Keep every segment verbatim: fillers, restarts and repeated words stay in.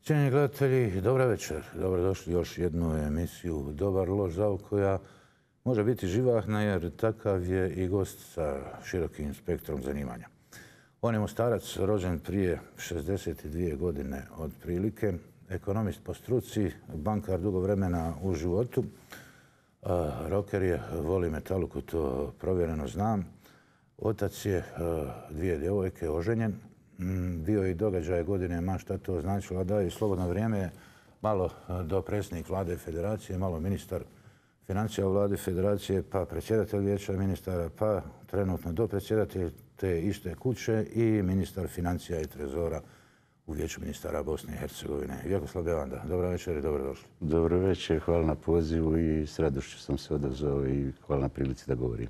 Cijenjeni gledatelji, dobra večer. Dobrodošli u još jednu emisiju Dobar loš zao koja može biti živahna jer takav je i gost sa širokim spektrom zanimanja. On je Mostarac, rođen prije šezdeset dvije godine otprilike, ekonomist po struci, bankar dugo vremena u životu. Roker je, voli metaluku, to provjereno znam. Otac je dvije djevojke, oženjen. Bio i događaj godine, ma šta to značilo, da i slobodno vrijeme malo dopredsjednik vlade federacije, malo ministar financija vlade federacije, pa predsjedatelj vijeća ministara, pa trenutno dopredsjedatelj te iste kuće i ministar financija i trezora u vijeću ministara Bosne i Hercegovine. Vjekoslav Bevanda, dobra večer i dobrodošli. Dobro večer, hvala na pozivu i s radošću sam se odazvao i hvala na prilici da govorim.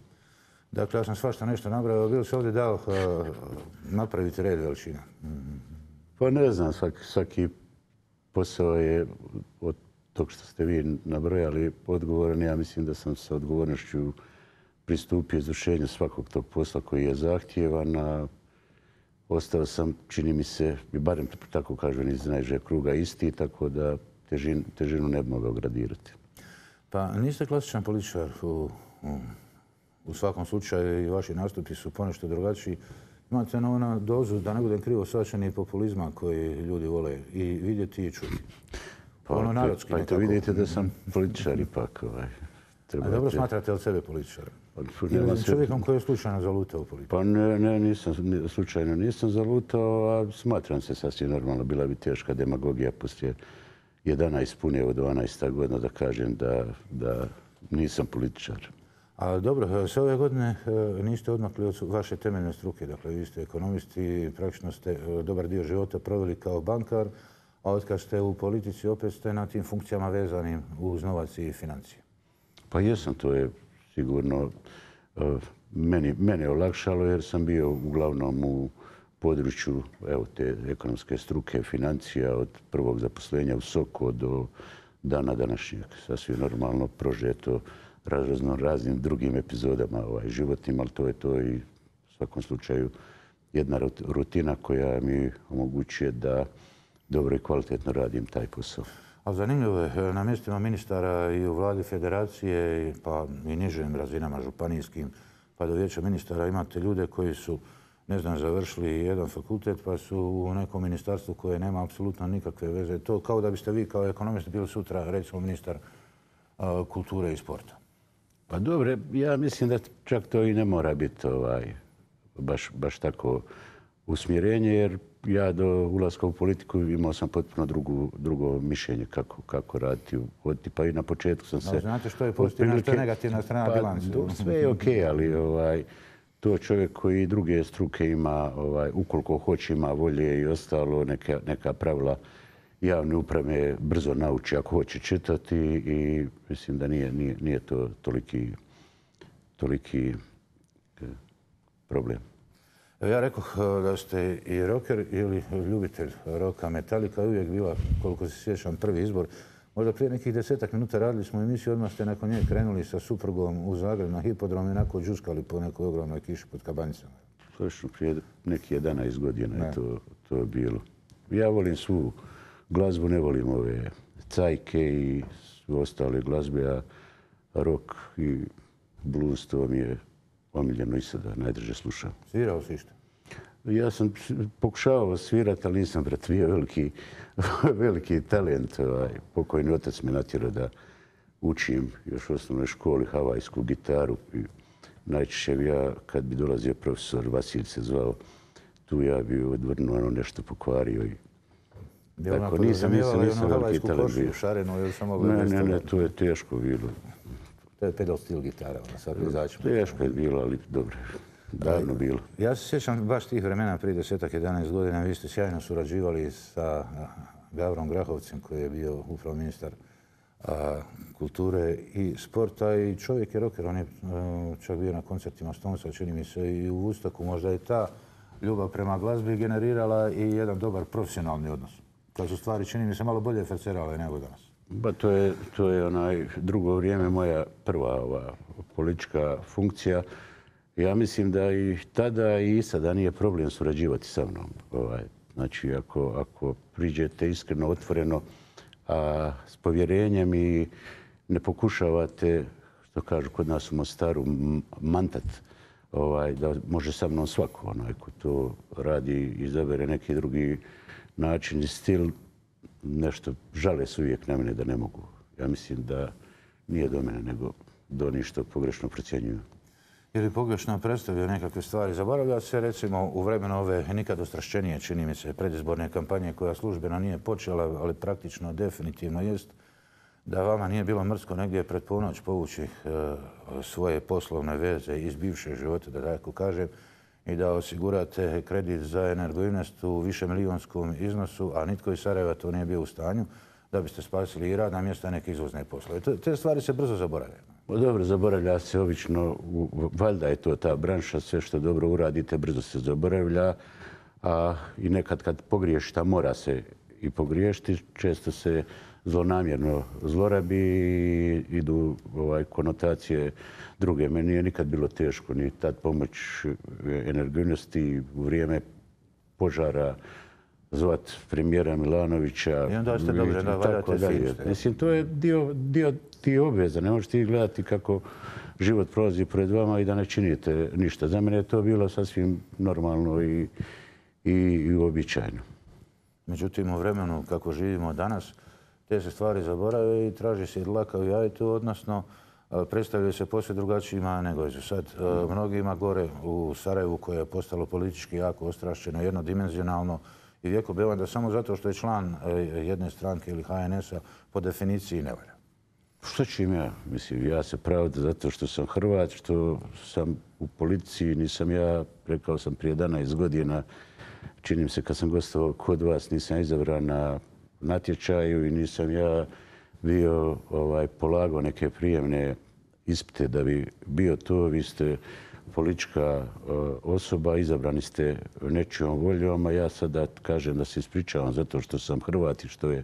Dakle, ja sam svašta nešto nabrao. Bilo se ovdje dao napraviti red veličina? Pa ne znam, svaki, svaki posao je od tog što ste vi nabrojali odgovoran. Ja mislim da sam sa odgovornošću pristupio izvršenju svakog tog posla koji je zahtjevan, a ostao sam, čini mi se, i barem tako kažem, iz najžeg kruga isti, tako da težin, težinu ne bi mogao gradirati. Pa niste klasičan političar u... u... U svakom slučaju i vaši nastupi su ponešto drugačiji. Imate na ona dozu, da ne budem krivo shvaćeni, populizma koji ljudi vole i vidjeti i čuti. Pa, ono narodski pa nekako... vidite da sam političar ipak. Ovaj. A dobro smatrate od sebe političara? Ili čovjekom koji je slučajno zalutao u politiku? Pa ne, ne, nisam, slučajno nisam zalutao, a smatram se sasvim normalno. Bila bi teška demagogija poslije jedanaest pune od dvanaest godina da kažem da, da nisam političar. A dobro, sve ove godine niste odmakli od vaše temeljne struke. Dakle, vi ste ekonomisti i praktično ste dobar dio života proveli kao bankar, a otkad ste u politici opet ste na tim funkcijama vezanim uz novac i financije. Pa jesam, to je sigurno meni, mene olakšalo jer sam bio uglavnom u području evo, te ekonomske struke, financija od prvog zaposlenja u Soko do dana današnjeg. Sasvim normalno prožeto razno raznim drugim epizodama ovaj, životnim, ali to je to i u svakom slučaju jedna rutina koja mi omogućuje da dobro i kvalitetno radim taj posao. A zanimljivo je, na mjestima ministara i u vladi federacije, pa i nižim razinama županijskim, pa do vijeća ministara imate ljude koji su, ne znam, završili jedan fakultet, pa su u nekom ministarstvu koje nema apsolutno nikakve veze. To kao da biste vi kao ekonomist bili sutra, recimo, ministar uh, kulture i sporta. Pa dobro, ja mislim da čak to i ne mora biti ovaj, baš, baš tako usmjerenje, jer ja do ulaska u politiku imao sam potpuno drugu, drugo mišljenje kako, kako raditi. Pa i na početku sam se... No, znate što je pozitivna, što je negativna strana pa, bilanci? Sve je okej, okay, ali ovaj, to čovjek koji druge struke ima, ovaj, ukoliko hoće ima volje i ostalo, neka, neka pravila javne uprave brzo nauči ako hoće čitati i mislim da nije, nije, nije to toliki, toliki problem. Ja rekoh da ste i rocker ili ljubitelj roka. Metallica je uvijek bila, koliko se sjećam, prvi izbor. Možda prije nekih desetak minuta radili smo emisiju, odmah ste nakon nje krenuli sa suprugom u Zagreb na hipodrom i onako džuskali po nekoj ogromnoj kiši pod Kabanicama. Točno, prije nekih jedanaest godina je to, to bilo. Ja volim svu glazbu, ne volim ove cajke i ostale glazbe, a rock i blues to mi je omiljeno i sada najdrže slušam. Svirao si išto? Ja sam pokušavao svirati, ali nisam bratvio veliki, veliki talent. Ovaj, pokojni otac me natjerao da učim još u osnovnoj školi havajsku gitaru. I najčešće bi ja, kad bi dolazio profesor, Vasilj se zvao, tu ja bi odvrnuo ono nešto pokvario i tako, nisam, nisam, nisam veliki talent bio. Ne, ne, ne, to je teško bilo. To je pedal stil gitara, ona sad izaći. Teško je bilo, ali dobro, davno bilo. Ja se sjećam baš tih vremena prije desetak, jedanaest godina. Vi ste sjajno surađivali sa Gavrom Grahovcem, koji je bio upravo ministar kulture i sporta i čovjek je rocker. On je čak bio na koncertima Stonesa, čini mi se, i u Vustoku. Možda je ta ljubav prema glazbi generirala i jedan dobar profesionalni odnos. Kad su stvari, čini mi se, malo bolje fercerale nego danas. Ba, to je, to je onaj drugo vrijeme moja prva ova politička funkcija. Ja mislim da i tada i sada nije problem surađivati sa mnom. Ovaj, Znači, ako, ako priđete iskreno, otvoreno, a s povjerenjem i ne pokušavate, što kažu kod nas u Mostaru, mantat, ovaj, da može sa mnom svako, onaj ko to radi i izabere neki drugi način i stil, nešto žale se uvijek na mene da ne mogu. Ja mislim da nije do mene, nego do onih što pogrešno procjenjuju. Ili pogrešno predstavljaju nekakve stvari. Zaboravlja se recimo u vremenu ove nikad ostrašćenije, čini mi se, predizborne kampanje koja službeno nije počela, ali praktično definitivno jest, da vama nije bilo mrsko negdje pred ponoć povući e, svoje poslovne veze iz bivšeg života, da tako kažem, i da osigurate kredit za Energoinvest u višemilijunskom iznosu, a nitko iz Sarajeva to nije bio u stanju, da biste spasili i radna mjesta i neke izvozne poslove. Te stvari se brzo zaboravljaju. Dobro, zaboravlja se obično, valjda je to ta branša, sve što dobro uradite brzo se zaboravlja, a i nekad kad pogriješite, a mora se i pogriješiti, često se zlonamjerno zlorabi i idu ovaj, konotacije druge. Meni nije nikad bilo teško ni tad pomoć Energoinvesti u vrijeme požara zvat premijera Milanovića. I onda ste dobro da valjate film. Mislim, to je dio, dio ti obveza. Ne možete gledati kako život prolazi pred vama i da ne činite ništa. Za mene je to bilo sasvim normalno i, i, i uobičajeno. Međutim, u vremenu kako živimo danas, te se stvari zaborave i traži se i dlaka u jajetu, odnosno predstavljaju se posve drugačijima nego su sad. Mnogima gore u Sarajevu, koje je postalo politički jako ostrašćeno, jednodimenzionalno, i vijeko bevan da samo zato što je član jedne stranke ili H N S-a po definiciji ne valja. Što ću im ja? Mislim, ja se pravdam zato što sam Hrvat, što sam u policiji, nisam ja, rekao sam prije jedanaest godina, činim se kad sam gostovao kod vas, nisam izabran na natječaju i nisam ja bio ovaj, polagao neke prijemne ispite da bi bio to. Vi ste politička uh, osoba, izabrani ste nečijom voljom, a ja sada kažem da se ispričavam zato što sam Hrvat i što je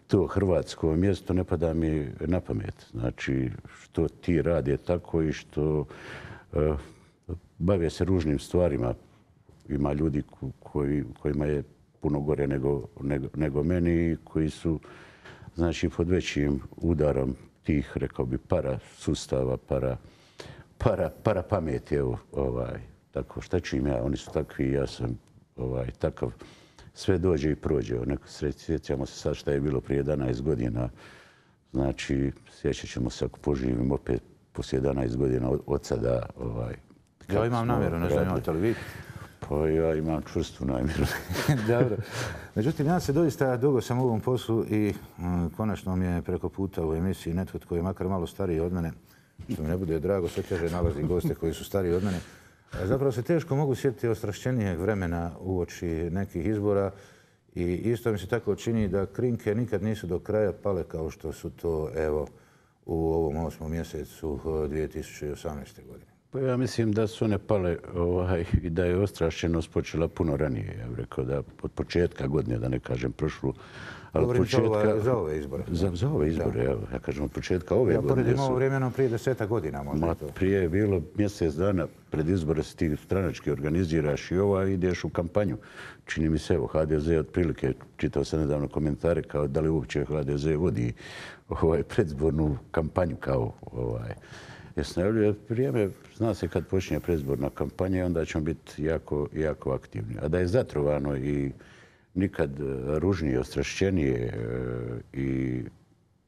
to hrvatsko mjesto, ne pada mi na pamet. Znači, što ti rade tako i što uh, bave se ružnim stvarima. Ima ljudi koji, kojima je puno gore nego, nego, nego meni, koji su znači, pod većim udarom tih, rekao bi, para sustava, para, para, para pameti. Evo, ovaj, tako, šta ću im ja? Oni su takvi, ja sam ovaj, takav. Sve dođe i prođe. Neko, sjećamo se sad šta je bilo prije jedanaest godina. Znači, sjećat ćemo se ako poživim opet poslije jedanaest godina od, od sada. Ovaj, ja imam namjeru, ne znam imate li vi? Pa ja imam čvrstu namjeru. Dobro. Međutim, ja se doista dugo sam u ovom poslu i um, konačno mi je preko puta u emisiji netko tko je makar malo stariji od mene, što mi ne bude drago, sve teže nalazi goste koji su stariji od mene. Zapravo se teško mogu sjetiti ostrašćenijeg vremena uoči nekih izbora i isto mi se tako čini da krinke nikad nisu do kraja pale kao što su to evo u ovom osmom mjesecu dvije tisuće osamnaeste. godine. Pa ja mislim da su one pale ovaj, i da je ostrašćenost počela puno ranije. Ja bih rekao da od početka godine, da ne kažem prošlu, ali Govorim početka, za ove izbore. Za, za ove izbore, ja, ja kažem od početka ove ja godine. Ja poredim ovo vremeno prije deseta godina možda. Ma, prije je bilo mjesec dana pred izbore se ti stranački organiziraš i ova ideš u kampanju. Čini mi se, evo, H D Z otprilike, čitao sam nedavno komentare kao da li uopće H D Z vodi ovaj, predzbornu kampanju kao ovaj, Jasno, vrijeme, zna se kad počinje predizborna kampanja, onda ćemo biti jako, jako aktivni. A da je zatrovano i nikad ružnije, ostrašćenije i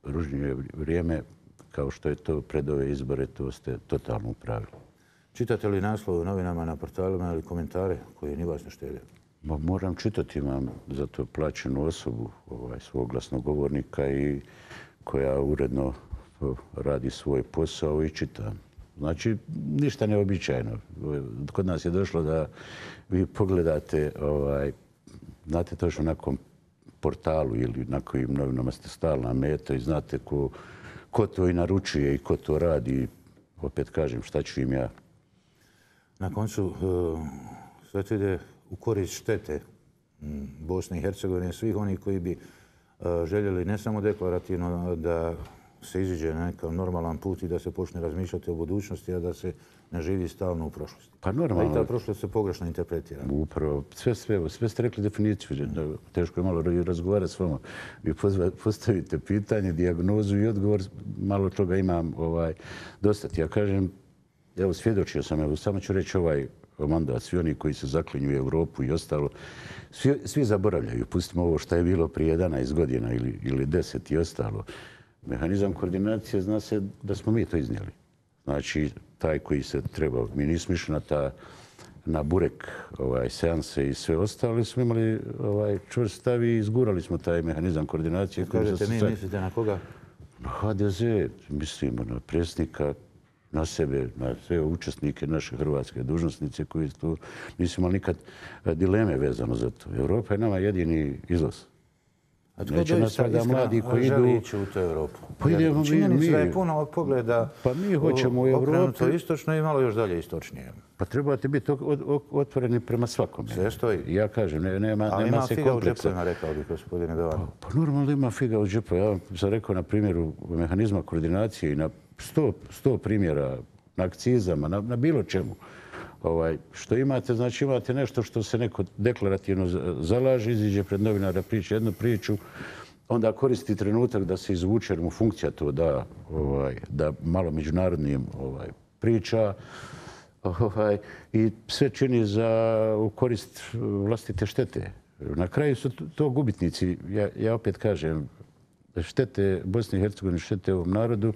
ružnije vrijeme, kao što je to pred ove izbore, to ste totalno upravili. Čitate li naslove u novinama, na portalima ili komentare koji ni vas ne štede? Ma, moram čitati, imam za to plaćenu osobu, ovaj, svog glasnogovornika i koja uredno radi svoj posao i čita. Znači, ništa neobičajno. Kod nas je došlo da vi pogledate, ovaj, znate točno na kom portalu ili na kojim novinama ste stalna meta i znate ko, ko to i naručuje i ko to radi. Opet kažem, šta ću im ja? Na koncu, sve to ide u korist štete Bosne i Hercegovine, svih onih koji bi željeli ne samo deklarativno da se iziđe na nekakav normalan put i da se počne razmišljati o budućnosti, a da se ne živi stalno u prošlosti. Pa A i normalno, ta prošlost se pogrešno interpretira. upravo, sve, sve, sve ste rekli definiciju. Da, teško je malo i razgovarati s vama. Vi pozva- postavite pitanje, dijagnozu i odgovor, malo toga imam ovaj, dosta. Ja kažem, evo, svjedočio sam, evo, samo ću reći ovaj mandat, svi oni koji se zaklinju u Europu i ostalo, svi, svi zaboravljaju. Pustimo ovo što je bilo prije jedanaest godina ili, ili deset i ostalo. Mehanizam koordinacije zna se da smo mi to iznijeli. Znači, taj koji se trebao, mi nismo išli na, ta, na burek ovaj, seanse i sve ostalo, smo imali ovaj, čvrst stav i izgurali smo taj mehanizam koordinacije. Kažete, mi mislite na koga? Na ha de ze, mislimo na predsjednika, na sebe, na sve učesnike naše hrvatske dužnosnice koji tu nisu imali nikad dileme vezano za to. Europa je nama jedini izlaz. A tko Neće nas doista sada mladi iskreno koji želi idu... ići u tu Europu? Pa Jer idemo mi- činjenica da je mi- puno ovog pogleda Pa mi hoćemo u Europi. okrenuto istočno i malo još dalje istočnije. Pa trebate biti od- od- otvoreni prema svakome. Sve stoji. Ja kažem, ne- nema, Ali nema ima se figa u kompleksa. džepovima, rekao bih, gospodine Bevan. Pa normalno ima figa u džepu. Ja vam sam rekao na primjeru mehanizma koordinacije i na sto, sto primjera na akcizama, na, na bilo čemu. Ovaj, što imate, znači imate nešto što se neko deklarativno za- zalaže, iziđe pred novinara, priča jednu priču, onda koristi trenutak da se izvuče, jer mu funkcija to da, ovaj, da malo međunarodnim ovaj, priča. Ovaj, I sve čini za u korist vlastite štete. Na kraju su to- to gubitnici. Ja, ja opet kažem, štete Bosne i Hercegovine, štete ovom narodu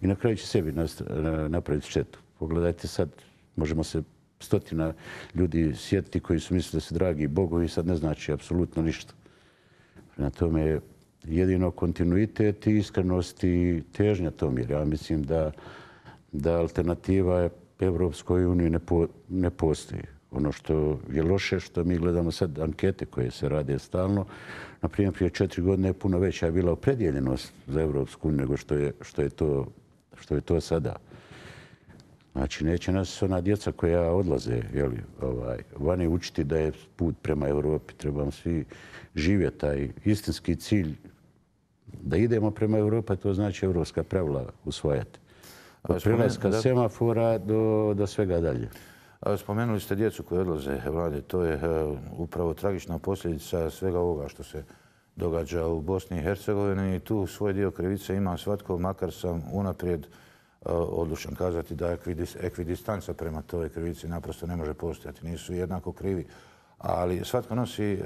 i na kraju će sebi nast- napraviti štetu. Pogledajte sad, možemo se stotina ljudi sjetiti koji su mislili da su dragi bogovi, sad ne znači apsolutno ništa. Na tome jedino kontinuitet i iskrenost i težnja tom, jer ja mislim da, da alternativa Evropskoj uniji ne, po, ne postoji. Ono što je loše, što mi gledamo sad ankete koje se rade stalno, na primjer prije četiri godine je puno veća je bila opredjeljenost za Evropsku uniju nego što je, što je, to, što je to sada. Znači, neće nas ona djeca koja odlaze jeli, ovaj, vani učiti da je put prema Europi. Trebamo svi živjeti taj istinski cilj da idemo prema Europi, to znači evropska pravila usvajati. Od prelaska semafora do, do svega dalje. Spomenuli ste djecu koji odlaze, Vlade. To je uh, upravo tragična posljedica svega ovoga što se događa u Bosni i Hercegovini i tu svoj dio krivice ima svatko, makar sam unaprijed uh, odlučan kazati da ekvidistanca prema toj krivici naprosto ne može postojati. Nisu jednako krivi, ali svatko nosi uh,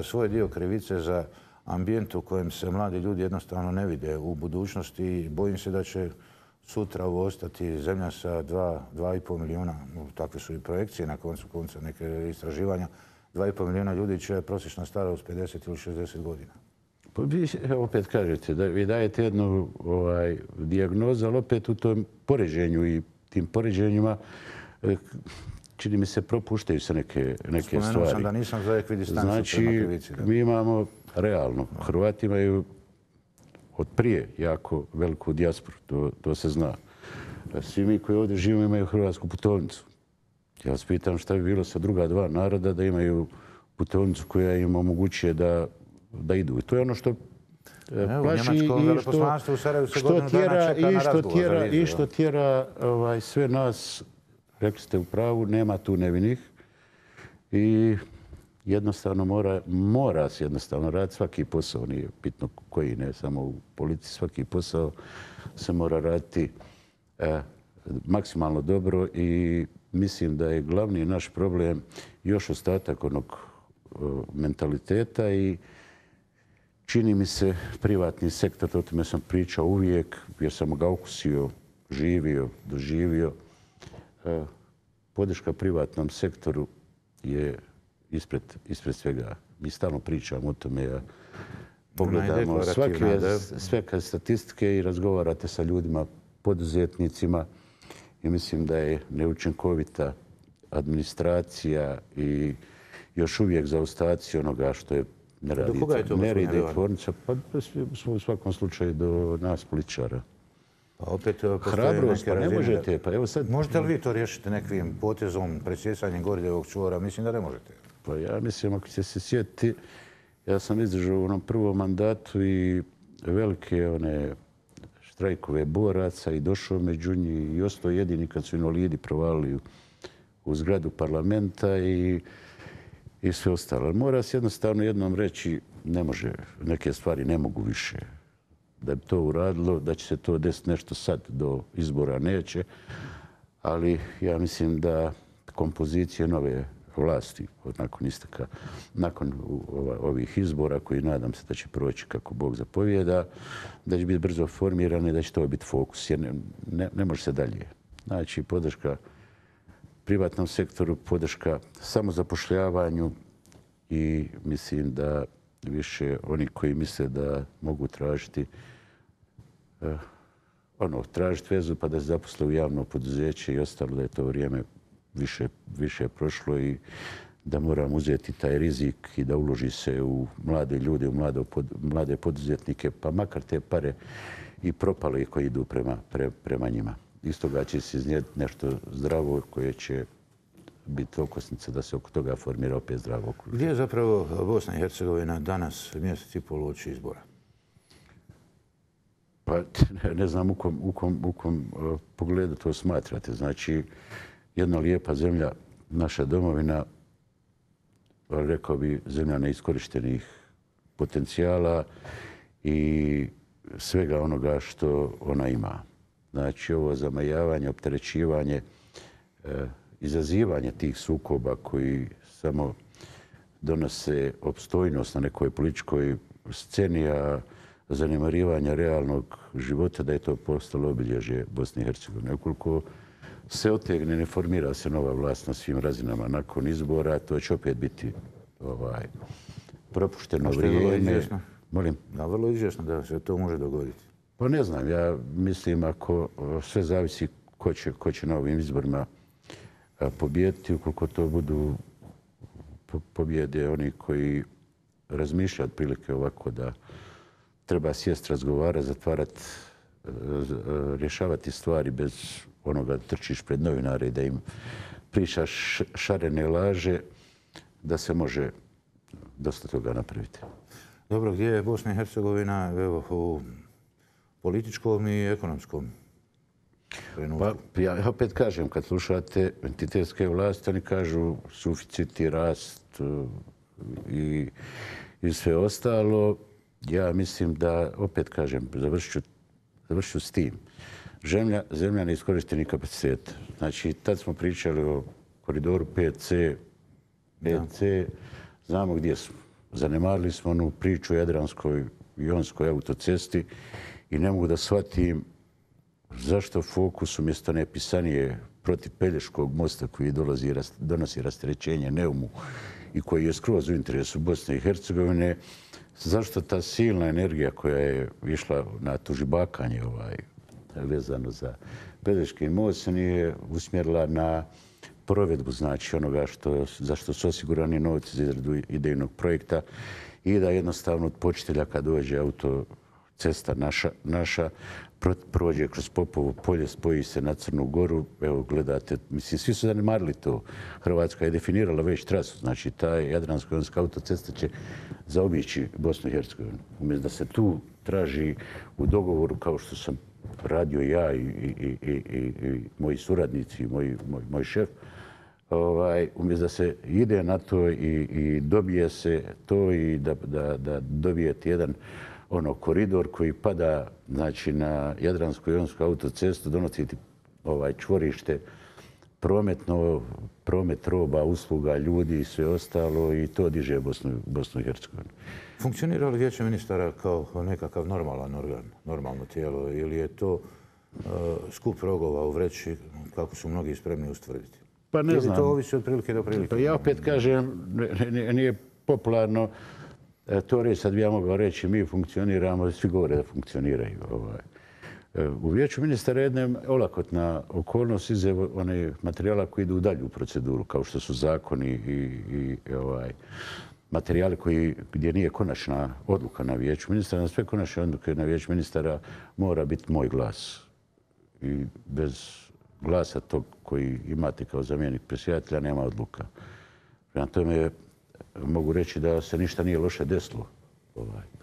svoj dio krivice za ambijent u kojem se mladi ljudi jednostavno ne vide u budućnosti i bojim se da će sutra ovo ostati zemlja sa dva, dva i pol milijuna, takve su i projekcije na koncu konca neke istraživanja, dva i pol milijuna ljudi će prosječna starost pedeset ili šezdeset godina. Pa vi opet kažete da vi dajete jednu ovaj, dijagnozu, ali opet u tom poređenju i tim poređenjima čini mi se propuštaju se neke, neke Spomenuo stvari. sam da nisam za ekvidistancu znači, prema krivici. Da. Mi imamo realno, Hrvati imaju od prije jako veliku dijasporu, to, to se zna. Svi mi koji ovdje živimo imaju hrvatsku putovnicu. Ja vas pitam šta bi bilo sa druga dva naroda da imaju putovnicu koja im omogućuje da, da idu. I to je ono što Evo, plaši u i što, u Sarajevu se što godinu dana tjera, čeka i na što razgovor za tjera, vizu, i što tjera ovaj, sve nas, rekli ste u pravu, nema tu nevinih. I jednostavno mora, mora se jednostavno raditi svaki posao, nije bitno koji, ne samo u politici, svaki posao se mora raditi e, maksimalno dobro i mislim da je glavni naš problem još ostatak onog e, mentaliteta i čini mi se privatni sektor, o tome sam pričao uvijek, jer sam ga okusio, živio, doživio. E, podrška privatnom sektoru je ispred, ispred svega. Mi stalno pričamo o tome. Ja pogledamo svake, sveke statistike i razgovarate sa ljudima, poduzetnicima i mislim da je neučinkovita administracija i još uvijek zaostaci onoga što je ne radi, ne radi tvornica, pa u svakom slučaju do nas političara. Pa opet hrabrost, pa ne možete. Pa evo sad... Možete li vi to riješiti nekim potezom, presjecanjem Gordijevog čvora? Mislim da ne možete. Pa ja mislim, ako ćete se sjetiti, ja sam izdržao u onom prvom mandatu i velike one, štrajkove boraca i došao među njih i ostao jedini kad su invalidi provalili u zgradu parlamenta i, i sve ostalo. Mora se jednostavno jednom reći, ne može, neke stvari ne mogu više. Da bi to uradilo, da će se to desiti nešto sad do izbora neće, ali ja mislim da kompozicije nove vlasti nakon isteka, nakon ovih izbora koji nadam se da će proći kako Bog zapovijeda, da će biti brzo formirane i da će to biti fokus. Jer ne, ne, ne može se dalje. Znači, podrška privatnom sektoru, podrška samozapošljavanju i mislim da više oni koji misle da mogu tražiti eh, ono, tražiti vezu pa da se zaposle u javno poduzeće i ostalo, da je to vrijeme više, više prošlo i da moram uzeti taj rizik i da uloži se u mlade ljude, u mlade, mlade poduzetnike, pa makar te pare i propale koji idu prema, pre, prema njima. Iz toga će se iznijeti nešto zdravo koje će biti okosnica da se oko toga formira opet zdravo okruženje. Gdje je zapravo Bosna i Hercegovina danas mjesec i pol uoči izbora? Pa ne znam u kom, u kom, u kom uh, pogledu to smatrate. Znači, jedna lijepa zemlja, naša domovina, rekao bi zemlja neiskorištenih potencijala i svega onoga što ona ima. Znači, ovo zamajavanje, opterećivanje, uh, izazivanje tih sukoba koji samo donose opstojnost na nekoj političkoj sceni, a zanemarivanja realnog života, da je to postalo obilježje Bosne i Hercegovine. Ukoliko se otegne, ne formira se nova vlast na svim razinama nakon izbora, to će opet biti ovaj, propušteno vrijeme. Molim? Da, vrlo izvjesno da se to može dogoditi. Pa ne znam, ja mislim ako sve zavisi ko će, ko će na ovim izborima pobijediti, ukoliko to budu pobjede oni koji razmišljaju otprilike ovako da treba sjest, razgovarati, zatvarati, rješavati stvari bez onoga da trčiš pred novinare i da im pričaš šarene laže, da se može dosta toga napraviti. Dobro, gdje je Bosna i Hercegovina evo, u političkom i ekonomskom trenutku? Pa, ja opet kažem, kad slušate entitetske vlasti, oni kažu suficit i rast i, i sve ostalo. Ja mislim da, opet kažem, završit ću s tim. Zemlja, zemlja neiskorištenih kapaciteta. Znači, tad smo pričali o koridoru pet ce, pet ce, znamo gdje smo. Zanemarili smo onu priču o Jadranskoj i Jonskoj autocesti i ne mogu da shvatim zašto fokus umjesto nepisanije protiv Pelješkog mosta koji dolazi, donosi rasterećenje Neumu i koji je skroz u interesu Bosne i Hercegovine, zašto ta silna energija koja je išla na tužibakanje ovaj, vezano za Pelješki most nije usmjerila na provedbu, znači onoga što, za što su osigurani novci za izradu idejnog projekta i da jednostavno od počitelja kad dođe autocesta naša, naša prođe kroz Popovo polje, spoji se na Crnu Goru. Evo, gledate, mislim, svi su zanemarili to. Hrvatska je definirala već trasu. Znači, ta Jadransko-jonska autocesta će zaobići Bosnu i Hercegovinu. Umjesto da se tu traži u dogovoru, kao što sam radio ja i, i, i, i, i moji suradnici, i moj, moj, moj šef, ovaj, umjesto da se ide na to i, i dobije se to i da, da, da dobijete jedan ono koridor koji pada znači na Jadransko-jonsku autocestu, donositi ovaj čvorište prometno, promet roba, usluga, ljudi i sve ostalo i to diže Bosnu, Bosnu i Hercegovinu. Funkcionira li Vijeće ministara kao nekakav normalan organ, normalno tijelo ili je to uh, skup rogova u vreći kako su mnogi spremni ustvrditi? Pa ne znam. Ili to ovisi od prilike do prilike? Pa ja opet kažem, nije popularno to reći, sad bi ja mogao reći, mi funkcioniramo, svi govore da funkcioniraju. Ovaj. U Vijeću ministara je jedna olakotna okolnost iza one materijala koji idu u dalju proceduru, kao što su zakoni i, i ovaj, materijali koji, gdje nije konačna odluka na Vijeću ministara. Na sve konačne odluke na Vijeću ministara mora biti moj glas. I bez glasa tog koji imate kao zamjenik predsjedatelja nema odluka. Prema tome, mogu reći da se ništa nije loše desilo.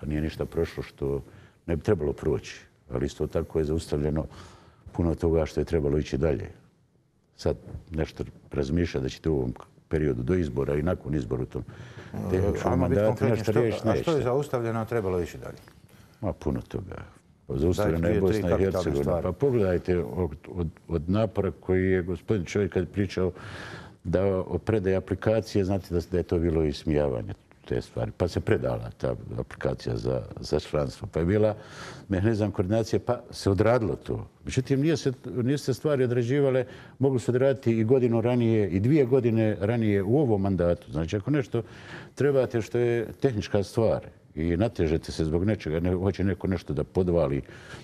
Da nije ništa prošlo što ne bi trebalo proći. ali isto tako je zaustavljeno puno toga što je trebalo ići dalje. Sad nešto razmišlja da ćete u ovom periodu do izbora i nakon izbora u tom tehničkom mandatu nešto riješiti. A što je zaustavljeno, a trebalo ići dalje? Ma puno toga. Zaustavljena je Bosna i Hercegovina. Pa pogledajte od, od, od napora koji je gospodin čovjek kad je pričao da o predaji aplikacije, znate da, da je to bilo ismijavanje te stvari. Pa se predala ta aplikacija za, za članstvo. Pa je bila mehanizam koordinacije, pa se odradilo to. Međutim, nije se, nije se stvari odrađivale, mogli se odraditi i godinu ranije, i dvije godine ranije u ovom mandatu. Znači, ako nešto trebate što je tehnička stvar i natežete se zbog nečega, ne, hoće neko nešto da podvali,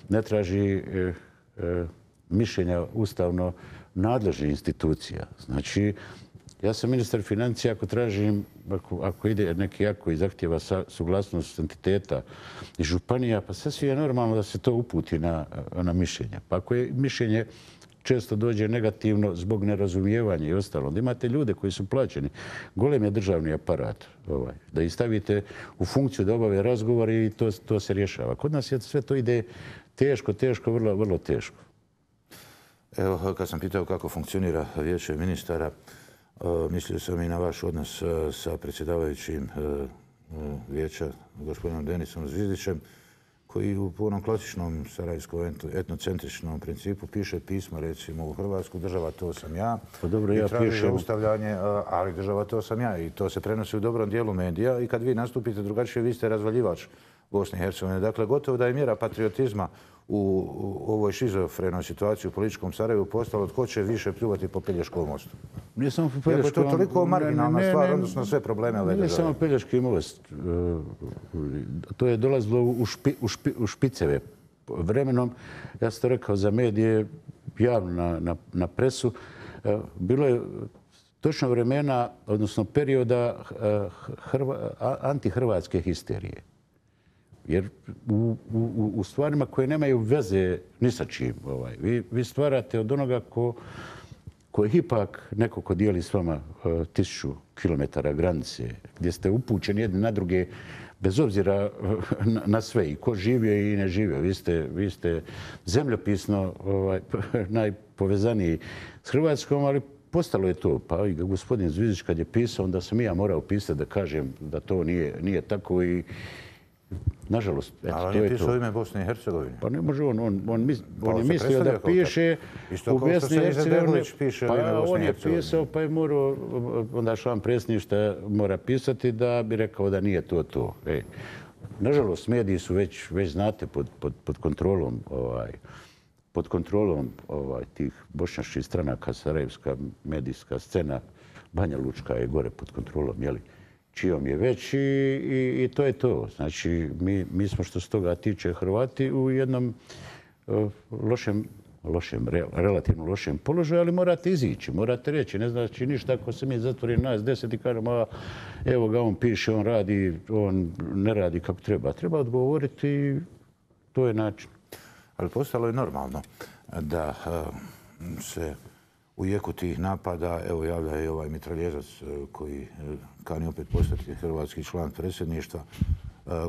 ne traži e, e, mišljenja ustavno nadležnih institucija. Znači, ja sam ministar financija, ako tražim, ako, ako ide neki jako i zahtjeva suglasnost entiteta i županija, pa sasvim je normalno da se to uputi na, na mišljenje. Pa ako je mišljenje često dođe negativno zbog nerazumijevanja i ostalo, onda imate ljude koji su plaćeni, golem je državni aparat, ovaj, da ih stavite u funkciju da obave razgovore i to, to se rješava. Kod nas je sve to ide teško, teško, vrlo, vrlo teško. Evo, kad sam pitao kako funkcionira vijeće ministara, Uh, mislio sam i na vaš odnos uh, sa predsjedavajućim uh, uh, vijeća, gospodinom Denisom Zvizdićem, koji u punom klasičnom sarajevskom etnocentričnom principu piše pismo, recimo, u Hrvatsku, država to sam ja. Pa dobro, ja i traži pišem... zaustavljanje, uh, ali država to sam ja. I to se prenosi u dobrom dijelu medija i kad vi nastupite drugačije, vi ste razvaljivač Bosne i Hercegovine. Dakle, gotovo da je mjera patriotizma u, u ovoj šizofrenoj situaciji u političkom Sarajevu postalo tko će više pljuvati po Pelješkom mostu. Nije samo po Pelješkom... Iako je to toliko marginalna stvar, odnosno sve probleme ove države. Nije samo Pelješki most. To je dolazilo u, špi, u, špi, u špiceve. Vremenom, ja sam to rekao za medije, javno na, na, na presu, bilo je točno vremena, odnosno perioda hrva, antihrvatske histerije. Jer u, u, u stvarima koje nemaju veze ni sa čim, ovaj, vi, vi stvarate od onoga ko, ko je ipak neko ko dijeli s vama uh, tisuću kilometara granice, gdje ste upućeni jedni na druge, bez obzira na, na sve, i ko živio i ne živio. Vi ste, vi ste zemljopisno ovaj, najpovezaniji s Hrvatskom, ali postalo je to. Pa i gospodin Zvizdić kad je pisao, onda sam i ja morao pisati da kažem da to nije, nije tako i nažalost, eto, ali to je to. Ali on je pisao ime Bosne i Hercegovine. Pa ne može on, on, on, mis, pa on je mislio da piše u Bosni i Hercegovini. Pa on je pisao, pa je morao, onda član predsjedništva mora pisati da bi rekao da nije to to. E, nažalost, mediji su već, već znate, pod, pod, pod kontrolom, ovaj, pod kontrolom ovaj, tih bošnjačkih stranaka, sarajevska medijska scena, Banja Lučka je gore pod kontrolom, jeli? Čijom je već i, i, i to je to. Znači, mi, mi smo što se toga tiče Hrvati u jednom uh, lošem, lošem, re, relativno lošem položaju, ali morate izići, morate reći. Ne znači ništa ako se mi zatvori nas deset i kažemo, a evo ga on piše, on radi, on ne radi kako treba. Treba odgovoriti i to je način. Ali postalo je normalno da uh, se u jeku tih napada, evo javlja i ovaj mitraljezac koji kani opet postati hrvatski član predsjedništva,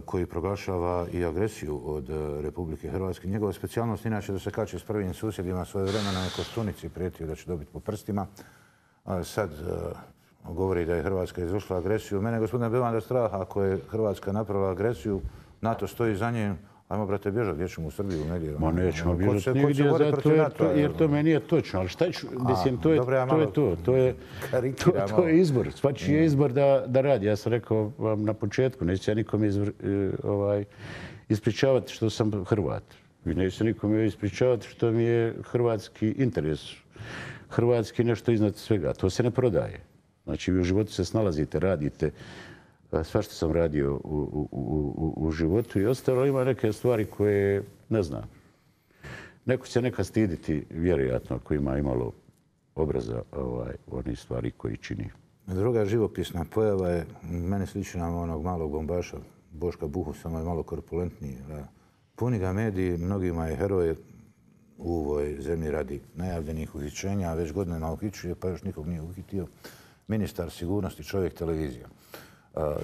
koji proglašava i agresiju od Republike Hrvatske. Njegova specijalnost inače da se kače s prvim susjedima svoje vremena na Koštunici, prijetio da će dobiti po prstima. Sad govori da je Hrvatska izvršila agresiju. Mene, gospodine Bevanda, strah ako je Hrvatska napravila agresiju, NATO stoji za njim. Ajmo, brate, bježati, gdje ćemo u Srbiju, negdje. Ma nećemo bježati nigdje, zato je to, jer to meni je točno. Ali šta ću, mislim, to je, to je to. To je, to, to je izbor. Svačiji je izbor da, da radi. Ja sam rekao vam na početku, neću ja nikom izvr, ovaj, ispričavati što sam Hrvat. I neću se nikom ispričavati što mi je hrvatski interes. Hrvatski nešto iznad svega. To se ne prodaje. Znači, vi u životu se snalazite, radite. Sva što sam radio u, u, u, u životu i ostalo, ima neke stvari koje ne znam. Neko će neka stiditi, vjerojatno, ako ima imalo obraza ovaj, onih stvari koji čini. Druga živopisna pojava je, meni slična onog malog bombaša, Boška Buhu, samo je malo korpulentniji. Puni ga mediji, mnogima je heroj u ovoj zemlji radi najavljenih uhićenja, a već godinama uhićuje, pa još nikog nije uhitio. Ministar sigurnosti, čovjek televizija.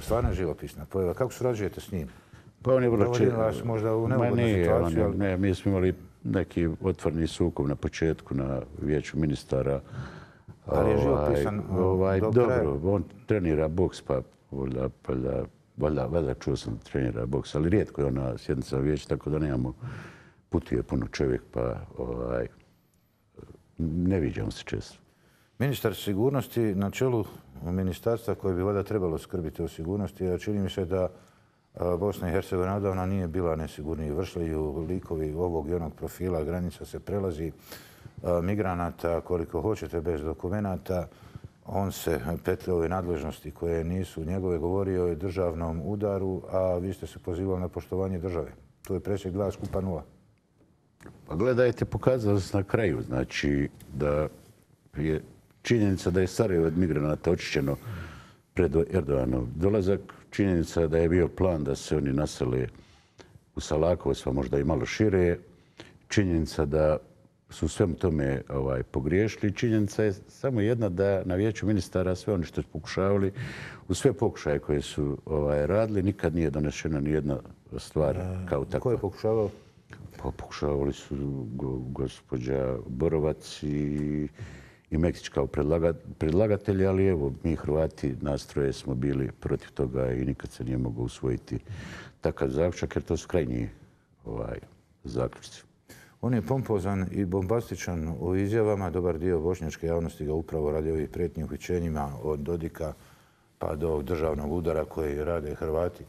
Stvarno je živopisna pojava. Kako surađujete s njim? Pa on je vrlo dovodi vas možda u Ma neugodnu nije, situaciju. on- ali- ne, mi smo imali neki otvoreni sukob na početku na vijeću ministara. Ali je Ovaj, živopisan, o, ovaj, do dobro, kraja. on trenira boks, pa valjda, valjda, valjda, valjda čuo sam da trenira boks, ali rijetko je on na sjednicama vijeća, tako da nemamo, putuje puno čovjek, pa ovaj, ne viđamo se često. Ministar sigurnosti na čelu ministarstva koje bi valjda trebalo skrbiti o sigurnosti, a čini mi se da a, Bosna i Hercegovina odavna nije bila nesigurniji. Vršljaju likovi ovog i onog profila, granica se prelazi, a, migranata koliko hoćete bez dokumenata. On se petlja ove nadležnosti koje nisu njegove, govorio o državnom udaru, a vi ste se pozivali na poštovanje države. To je presjek dva skupa nula. Pa gledajte, pokazalo se na kraju, znači da je činjenica da je Sarajevo od migranata očišćeno pred Erdoganov dolazak, činjenica da je bio plan da se oni nasele u Salakovac, pa možda i malo šire, činjenica da su svemu tome ovaj, pogriješili. Činjenica je samo jedna da na vijeću ministara sve oni što su pokušavali, u sve pokušaje koje su ovaj, radili, nikad nije donešena ni jedna stvar kao takva. Ko je pokušavao? Pa pokušavali su go, gospođa Borovac i, i Mektić kao predlaga, predlagatelji, ali evo, mi Hrvati nastroje smo bili protiv toga i nikad se nije mogao usvojiti takav zaključak, jer to su krajnji ovaj, zaključci. On je pompozan i bombastičan u izjavama. Dobar dio bošnjačke javnosti ga upravo radi ovih prijetnji uhićenjima od Dodika pa do ovog državnog udara koji rade Hrvati,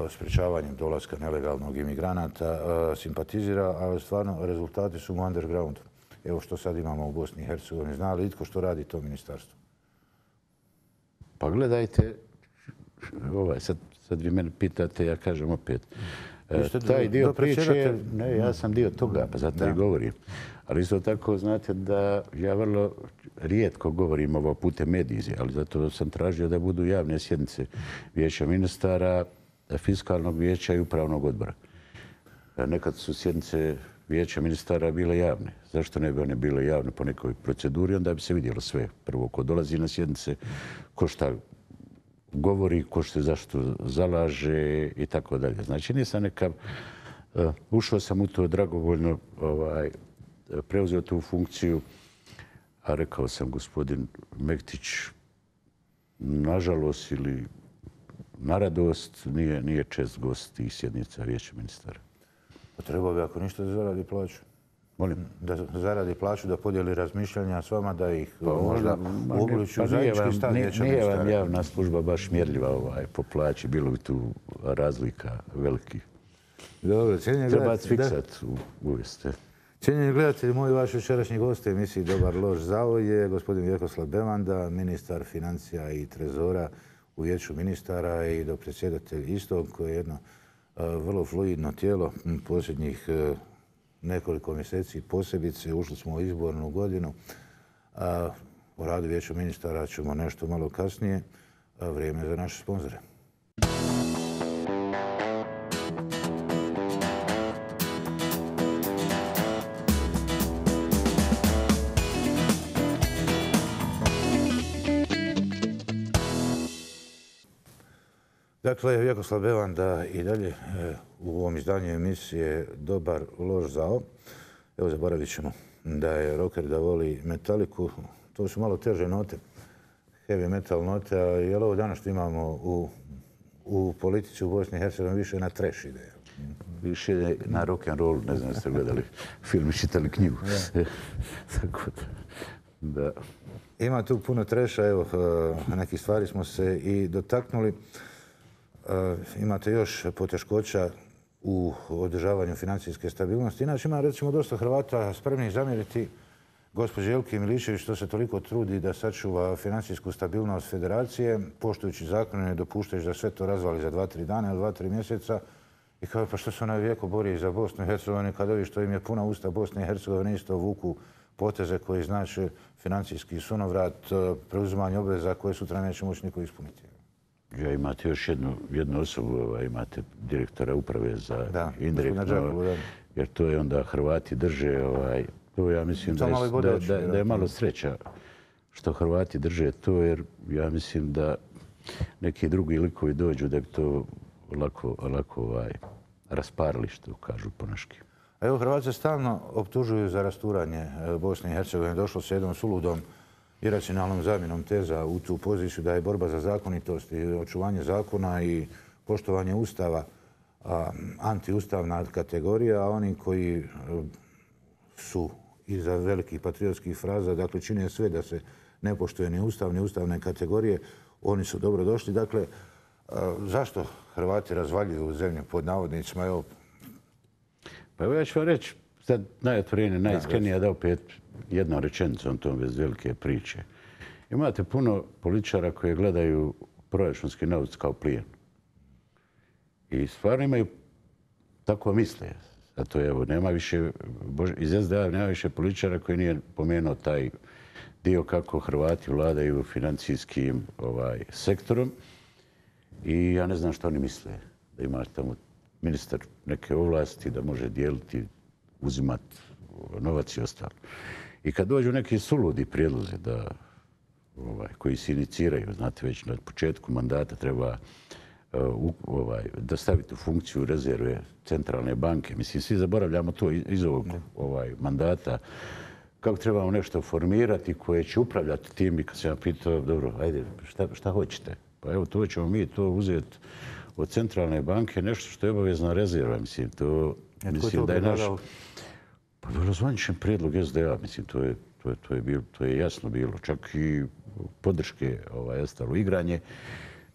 sprječavanjem dolaska nelegalnog imigranata, simpatizira, ali stvarno rezultati su u undergroundu. Evo što sad imamo u Bosni i Hercegovini. Zna li itko što radi to ministarstvo? Pa gledajte, ovaj, sad, sad vi mene pitate, ja kažem opet. ste Taj dio do priče, predsjedatelj- ne, ja sam dio toga, pa zato i govorim. Ali isto tako, znate da ja vrlo rijetko govorim ovo putem medije, ali zato sam tražio da budu javne sjednice vijeća ministara, fiskalnog vijeća i upravnog odbora. Nekad su sjednice vijeća ministara bile javne. Zašto ne bi one bile javne po nekoj proceduri? Onda bi se vidjelo sve. Prvo, ko dolazi na sjednice, ko šta govori, ko što zašto zalaže i tako dalje. Znači, nisam nekav... Uh, ušao sam u to dragovoljno, ovaj, preuzeo tu funkciju, a rekao sam gospodin Mektić, nažalost ili na radost, nije, nije čest gost tih sjednica vijeća ministara. Pa trebao bi ako ništa da zaradi plaću. Molim? Da zaradi plaću, da podijeli razmišljanja s vama, da ih možda uključi u Pa nije zajednički vam, stav nije, vijeća nije vam ministara. javna služba baš mjerljiva ovaj, po plaći. Bilo bi tu razlika velikih. Dobro, cijenjeni Treba gledatelji, da. fiksat uvijeste. Cijenjeni gledatelji, moj vaš večerašnji gost u emisiji Dobar loš zao je gospodin Vjekoslav Bevanda, ministar financija i trezora u vijeću ministara i dopredsjedatelj istog, koje je jedno uh, vrlo fluidno tijelo posljednjih uh, nekoliko mjeseci posebice. Ušli smo u izbornu godinu. A o radu vijeća ministara ćemo nešto malo kasnije. A vrijeme za naše sponzore. Dakle, Vjekoslav Bevanda i dalje e, u ovom izdanju emisije Dobar loš zao. Evo, zaboravit ćemo da je rocker da voli metaliku. To su malo teže note, heavy metal note, a je li ovo danas što imamo u, u politici u Bosni i Hercegovini više na trash ide? Više na rock and roll, ne znam da ste gledali film i čitali knjigu. Tako da, da. Ima tu puno treša, evo, e, nekih stvari smo se i dotaknuli. Uh, imate još poteškoća u održavanju financijske stabilnosti. Inače ima recimo dosta Hrvata spremnih zamjeriti gospođi Jelki Milišević što se toliko trudi da sačuva financijsku stabilnost federacije, poštujući zakone, ne dopuštajući da sve to razvali za dva, tri dana ili dva, tri mjeseca. I kao pa što se ona vijeko bori za Bosnu i Hercegovinu kad ovi što im je puna usta Bosne i Hercegovine isto vuku poteze koji znače financijski sunovrat, preuzimanje obveza koje sutra neće moći niko ispuniti. Ja, imate još jednu, jednu osobu, ovaj, imate direktora uprave za da, indirektno, Đakovu, da. jer to je onda Hrvati drže, ovaj, to ja mislim da je, da, da, da je malo sreća što Hrvati drže to, jer ja mislim da neki drugi likovi dođu da bi to lako, lako ovaj, rasparili, što kažu ponaški. Evo, Hrvati se stalno optužuju za rasturanje Bosne i Hercegovine. Došlo se jednom suludom iracionalnom zamjenom teza u tu poziciju da je borba za zakonitost i očuvanje zakona i poštovanje Ustava antiustavna kategorija, a oni koji su iza velikih patriotskih fraza, dakle, čine sve da se ne poštuje ni Ustav, ni ustavne kategorije, oni su dobro došli. Dakle, zašto Hrvati razvaljuju zemlju pod navodnicima? Evo, pa evo ja ću vam reći, sad najotvorenije, najiskrenije, da opet jednom rečenicom tom bez velike priče. Imate puno političara koji gledaju proračunski novac kao plijen. I stvarno imaju, tako misle. Zato evo, nema više, iz es de a nema više političara koji nije pomenuo taj dio kako Hrvati vladaju financijskim ovaj, sektorom. I ja ne znam što oni misle. Da ima tamo ministar neke ovlasti, da može dijeliti, uzimati novac i ostalo. I kad dođu neki suludi prijedlozi da, ovaj, koji se iniciraju, znate već na početku mandata treba uh, ovaj, da staviti u funkciju rezerve centralne banke. Mislim, svi zaboravljamo to iz ovog ovaj, mandata. Kako trebamo nešto formirati koje će upravljati tim. I kad sam ja pitao, dobro, ajde, šta, šta hoćete? Pa evo, to ćemo mi to uzeti od centralne banke, nešto što je obavezna rezerva. Mislim, to, mislim da je naš... Pa razvanjičan prijedlog es de a, mislim, to je, to je, to je, bilo, to je jasno bilo. Čak i podrške ovaj, ostalo igranje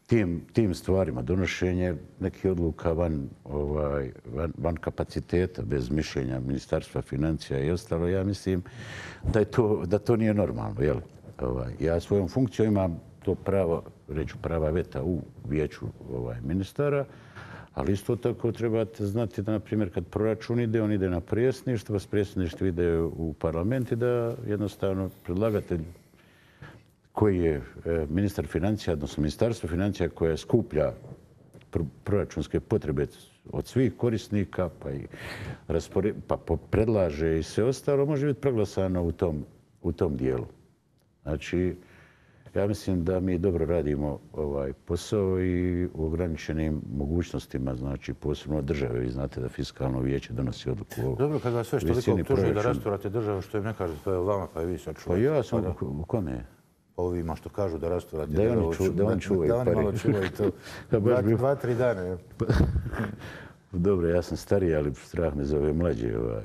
tim, tim stvarima, donošenje nekih odluka van, ovaj, van, van kapaciteta, bez mišljenja Ministarstva financija i ostalo. Ja mislim da, je to, da to nije normalno. Jel? Ovaj, ja svojom funkcijom imam to pravo, reću prava veta u vijeću ovaj, ministara, ali isto tako trebate znati da, na primjer, kad proračun ide, on ide na predsjedništvo, s predsjedništva ide u parlament i da jednostavno predlagatelj koji je ministar financija, odnosno ministarstvo financija koje skuplja proračunske potrebe od svih korisnika, pa i raspore, pa predlaže i sve ostalo, može biti proglasano u tom, u tom dijelu. Znači, ja mislim da mi dobro radimo ovaj posao i u ograničenim mogućnostima, znači posebno od države. Vi znate da fiskalno vijeće donosi odluku o dobro, kad vas sve što toliko optužuju da rasturate državu, što im ne kažete, to je vama, pa i vi sad čuvate. Pa ja sam, u kome? Pa ovima što kažu da rasturate da državu. Ču, da oni čuvaju pari. Da oni malo čuvaju to. dva, dva, tri dana. Dobro, ja sam stariji, ali strah me za ove mlađe. Ovaj.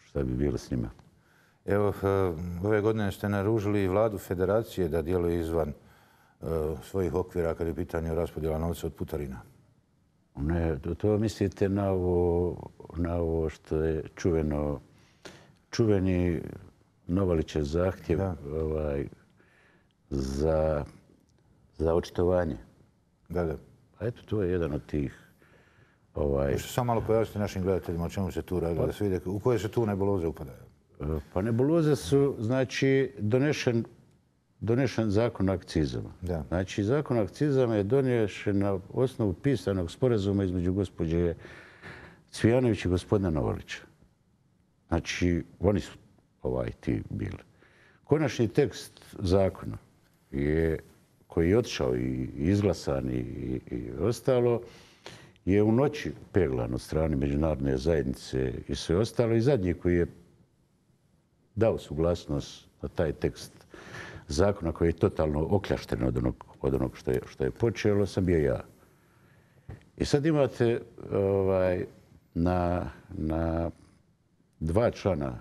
Šta bi bilo s njima? Evo, ove godine ste naružili vladu federacije da djeluje izvan uh, svojih okvira kad je pitanje raspodjela novca od putarina. Ne, to mislite na ovo, na ovo što je čuveno, čuveni Novalićev zahtjev ovaj, za, za očitovanje. Da, da. A eto, to je jedan od tih... Ovaj... Možete samo malo pojasniti našim gledateljima o čemu se tu radi, pa... da se vide u koje se tu nebuloze upadaju. Pa nebuloze su, znači, donešen, donešen zakon o akcizama. Da. Znači, zakon o akcizama je donešen na osnovu pisanog sporazuma između gospođe Cvijanović i gospodina Novalića. Znači, oni su ovaj ti bili. Konačni tekst zakona je, koji je otišao i izglasan i, i ostalo, je u noći peglan od strane međunarodne zajednice i sve ostalo. I zadnji koji je dao suglasnost na taj tekst zakona koji je totalno okljašten od onog, od onog što, je, što je počelo, sam bio ja. I sad imate ovaj, na, na dva člana,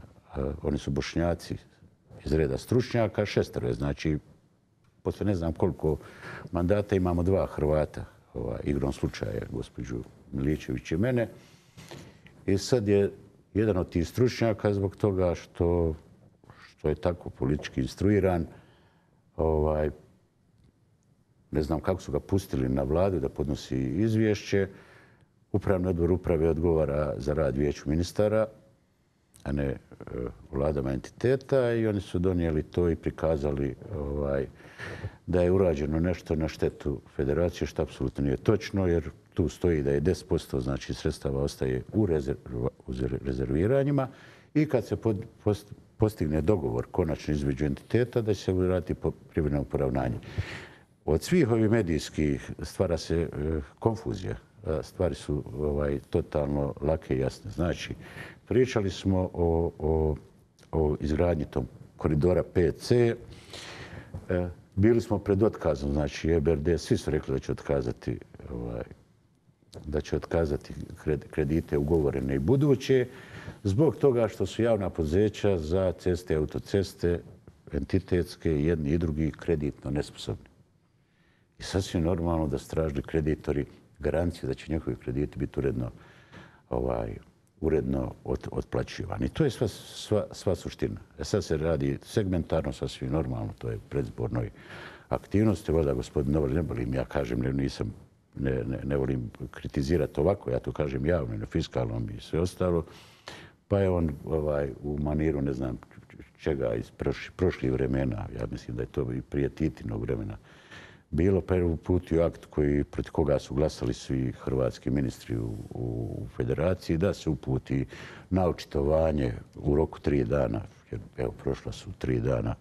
oni su Bošnjaci iz reda stručnjaka, šestero je, znači, posle ne znam koliko mandata imamo dva Hrvata, ovaj, igrom slučaja, gospođu Miličević i mene. I sad je jedan od tih stručnjaka zbog toga što, što je tako politički instruiran, ovaj, ne znam kako su ga pustili na vladu da podnosi izvješće. Upravni odbor uprave odgovara za rad vijeću ministara, a ne e, vladama entiteta, i oni su donijeli to i prikazali ovaj, da je urađeno nešto na štetu federacije, što apsolutno nije točno, jer tu stoji da je deset posto znači, sredstava ostaje u, rezerv, u rezerviranjima i kad se pod, post, postigne dogovor konačno između entiteta da će se uraditi po privremenom poravnanju. od svih ovih medijskih stvara se e, konfuzija. Stvari su ovaj, totalno lake i jasne. Znači, pričali smo o, o, o izgradnji tog koridora pet ce. E, bili smo pred otkazom, znači E B R D, svi su rekli da će otkazati, ovaj, da će otkazati kredite ugovorene i buduće, zbog toga što su javna poduzeća za ceste i autoceste, entitetske, jedni i drugi, kreditno nesposobni. I sasvim normalno da su tražili kreditori garanciju da će njihovi krediti biti uredno, ovaj, uredno od, otplaćivani. I to je sva, sva, sva suština. E sad se radi segmentarno, sasvim normalno, to je predizbornoj aktivnosti. Voda gospodin Novar, ne volim, ja kažem, ne, nisam, ne, ne, ne volim kritizirati ovako, ja to kažem javno, na fiskalnom i sve ostalo. Pa je on ovaj, u maniru, ne znam čega, iz prošli, prošlih vremena, ja mislim da je to i prije Titinog vremena, bilo, pa je uputio akt koji, protiv koga su glasali svi hrvatski ministri u, u federaciji, da se uputi na očitovanje u roku tri dana. Jer, evo, prošla su tri dana,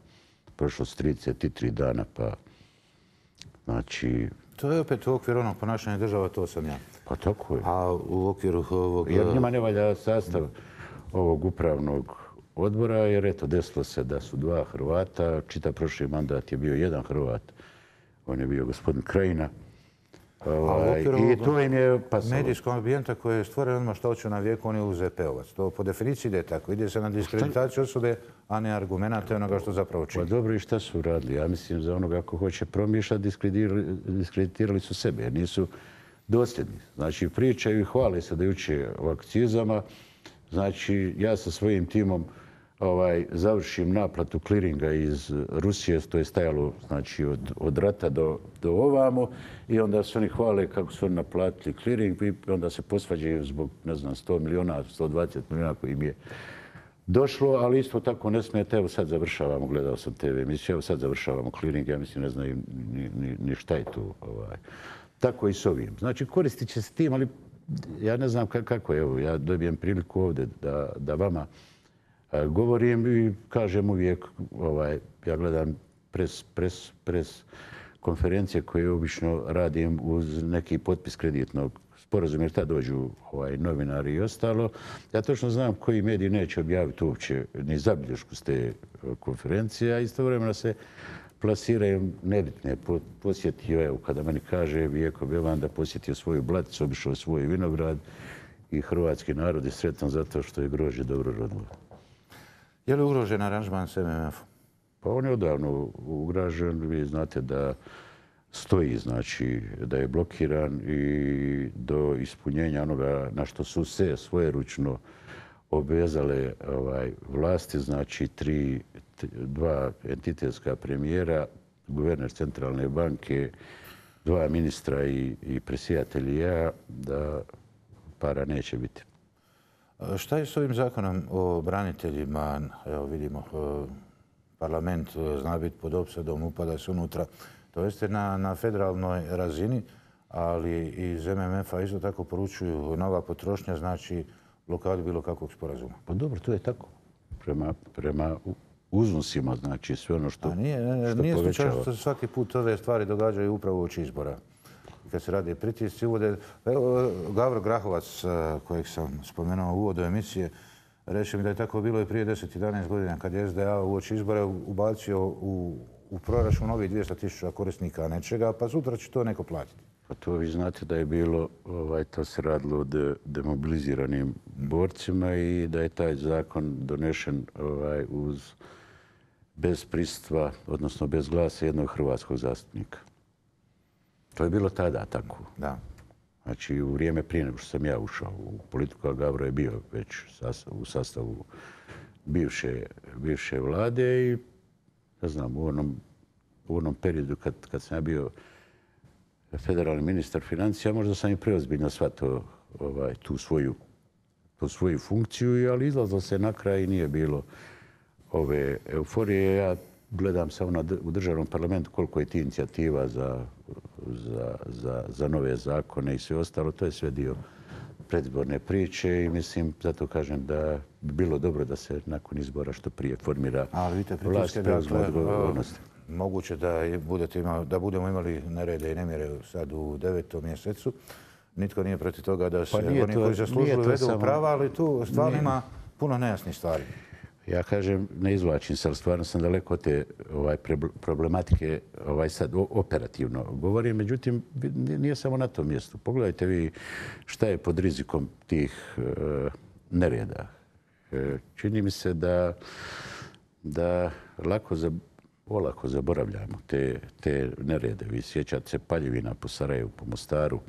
prošlo su trideset tri dana, pa znači... To je opet u okviru onog ponašanja država, to sam ja. Pa tako je. A u okviru ovog... Jer njima ne valja sastav ovog upravnog odbora, jer eto, desilo se da su dva Hrvata, čitav prošli mandat je bio jedan Hrvat. On je bio gospodin Krajina. Ovaj, I to im je pasalo. Medijskog ambijenta koji je stvoren odmah što hoću na vijeku, on je U Z P-ovac. To po definiciji ide tako. Ide se na diskreditaciju osobe, a ne argumenata onoga što zapravo čini. Pa dobro, i šta su radili? Ja mislim za onoga ako hoće promišljati, diskreditirali su sebe, jer nisu dosljedni. Znači, pričaju i hvale se da uče o akcizama. Znači, ja sa svojim timom ovaj, završim naplatu kliringa iz Rusije, to je stajalo znači, od, od rata do, do ovamo, i onda se oni hvale kako su oni naplatili kliring i onda se posvađaju zbog, ne znam, sto miliona, sto dvadeset miliona koji im je došlo, ali isto tako ne smijete, evo sad završavamo, gledao sam te ve emisije, evo sad završavamo kliring, ja mislim ne znaju ni, ni, ni šta je tu. Ovaj. Tako i s ovim. Znači, koristit će se tim, ali ja ne znam kako je, evo, ja dobijem priliku ovdje da, da vama govorim i kažem uvijek, ovaj, ja gledam pres, pres, pres konferencije koje obično radim uz neki potpis kreditnog sporazuma, jer tad dođu ovaj, novinari i ostalo. Ja točno znam koji mediji neće objaviti uopće ni zabilješku s te konferencije, a istovremeno se plasiraju nebitne. Posjetio, evo, kada meni kaže Vijeko Bevan da posjetio svoju blaticu, obišao svoj vinograd i hrvatski narod je sretan zato što je grožđe dobro rodilo. Je li ugrožen aranžman s M M F-om? Pa on je odavno ugrožen. Vi znate da stoji, znači da je blokiran i do ispunjenja onoga na što su se svojeručno obvezale ovaj, vlasti, znači tri, dva entitetska premijera, guverner centralne banke, dva ministra i, i predsjedatelji ja, da para neće biti. Šta je s ovim zakonom o braniteljima? Evo vidimo, parlament zna biti pod opsadom, upada se unutra. To jeste na, na federalnoj razini, ali iz M M F-a isto tako poručuju nova potrošnja, znači blokadu bilo kakvog sporazuma. Pa dobro, to je tako. Prema, prema uznosima, znači sve ono što, A nije, što nije povećava. slučajno što svaki put ove stvari događaju upravo uoči izbora. Kad se radi pritisci, uvode... Evo, Gavro Grahovac, kojeg sam spomenuo u uvodu emisije, reče mi da je tako bilo i prije deset jedanaest godina kad je S D A uoči izbora ubacio u, u proračun novih dvjesto tisuća korisnika nečega, pa sutra će to neko platiti. Pa to vi znate da je bilo, ovaj, to se radilo o de, demobiliziranim borcima i da je taj zakon donešen ovaj, uz bez prisustva, odnosno bez glasa jednog hrvatskog zastupnika. To je bilo tada tako. Da. Znači, u vrijeme prije nego što sam ja ušao u politiku, a Gavro je bio već u sastavu bivše, bivše vlade i, ne znam, u onom, u onom periodu kad, kad sam ja bio federalni ministar financija, možda sam i preozbiljno shvatio ovaj, tu, svoju, tu svoju funkciju, ali izlazilo se na kraj i nije bilo ove euforije. Ja gledam samo na, u državnom parlamentu koliko je ti inicijativa za, za, za, za nove zakone i sve ostalo. To je sve dio predizborne priče i mislim, zato kažem da bi bilo dobro da se nakon izbora što prije formira vlast preuzme odgovornosti. moguće da, i budete imali, da budemo imali nerede i nemire sad u devetom mjesecu. Nitko nije protiv toga da se Pa nije oni to- koji zaslužuju nije to vedu samo- prava, ali tu stvarno Nije. ima puno nejasnih stvari. Ja kažem, ne izvlačim se, ali stvarno sam daleko od te ovaj, pre- problematike ovaj, sad o- operativno govorim. Međutim, bi- nije samo na tom mjestu. Pogledajte vi šta je pod rizikom tih e, nereda. E, čini mi se da, da lako, za, olako zaboravljamo te, te nerede. Vi sjećate se Paljevina po Sarajevu, po Mostaru,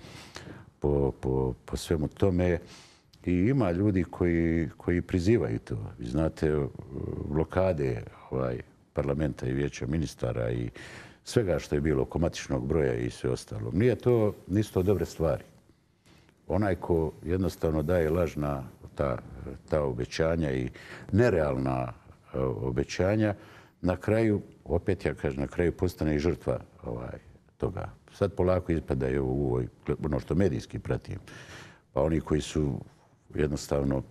po, po, po svemu tome. I ima ljudi koji, koji prizivaju to. Vi znate, blokade ovaj, parlamenta i vijeća ministara i svega što je bilo oko matičnog broja i sve ostalo. Nije to, nisu to dobre stvari. Onaj ko jednostavno daje lažna ta, ta obećanja i nerealna e, obećanja, na kraju, opet ja kažem, na kraju postane i žrtva ovaj, toga. Sad polako ispadaju u ovoj, ono što medijski pratim. Pa oni koji su jednostavno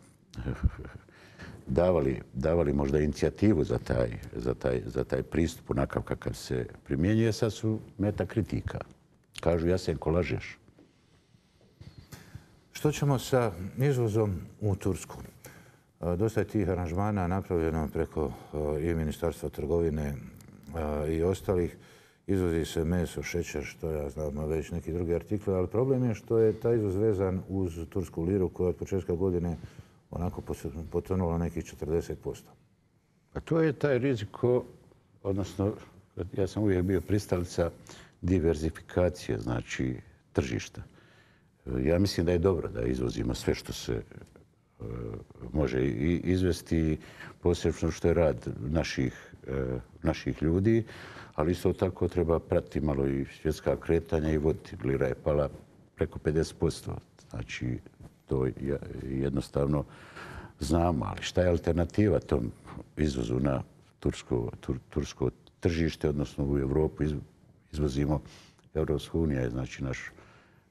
davali, davali možda inicijativu za taj, za taj, za taj pristup onakav kakav se primjenjuje, sad su meta kritika. Kažu, Jasenko, lažeš. Što ćemo sa izvozom u Tursku? E, Dosta je tih aranžmana napravljeno preko e, i Ministarstva trgovine e, i ostalih. Izvozi se meso, šećer, što ja znam, a već neki drugi artikli, ali problem je što je taj izvoz vezan uz tursku liru koja od početka godine onako pos- potonula nekih četrdeset posto. A to je taj riziko, odnosno, ja sam uvijek bio pristalica diverzifikacije, znači tržišta. Ja mislim da je dobro da izvozimo sve što se e, može i- izvesti, posebno što je rad naših, e, naših ljudi, ali isto tako treba pratiti malo i svjetska kretanja i voditi. Lira je pala preko pedeset posto. Znači, to je- jednostavno znamo, ali šta je alternativa tom izvozu na tursko, tur, tursko tržište, odnosno u Europu iz- izvozimo. Europska unija je znači naš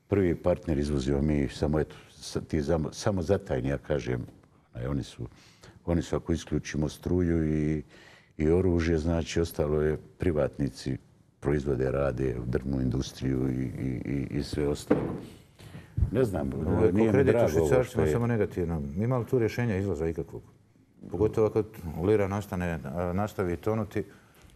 prvi partner, izvozimo mi samo, eto, sa- ti zamo- samo zatajni, ja kažem, onaj, oni su, oni su ako isključimo struju i, i oružje, znači ostalo je privatnici proizvode, rade u drvnu industriju i, i, i, i sve ostalo. Ne znam, Ovo je nije ko mi kredit u drago ovo što švicarcima, je. samo negativno. Ima li tu rješenja izlaza ikakvog? Pogotovo ako lira nastane, a, nastavi tonuti,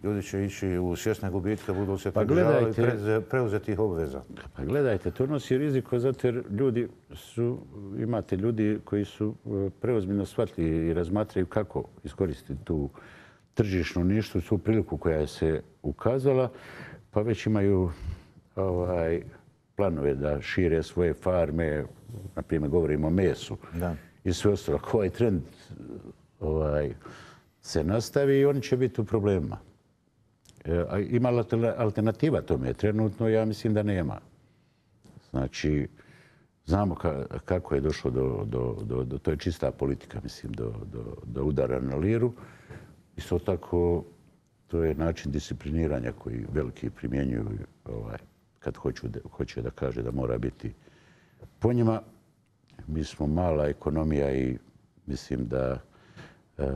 ljudi će ići u svjesne gubitke, budu se Pa pridržavali gledajte- preze- preuzetih obveza. Pa gledajte, to nosi riziko zato jer ljudi su, imate ljudi koji su e, preozbiljno shvatili i razmatraju kako iskoristiti tu tržišnu ništu, tu priliku koja se ukazala, pa već imaju ovaj, planove da šire svoje farme, na primjer govorimo o mesu Da. i sve ostalo. Ako ovaj trend ovaj, se nastavi, oni će biti u problemima. E, a ima li alterna- alternativa tome? Trenutno ja mislim da nema. Znači, znamo ka- kako je došlo do, do, do, do, to je čista politika, mislim, do, do, do udara na liru. Isto tako, to je način discipliniranja koji veliki primjenjuju ovaj, kad hoću da, hoće da kaže da mora biti po njima. Mi smo mala ekonomija i mislim da e,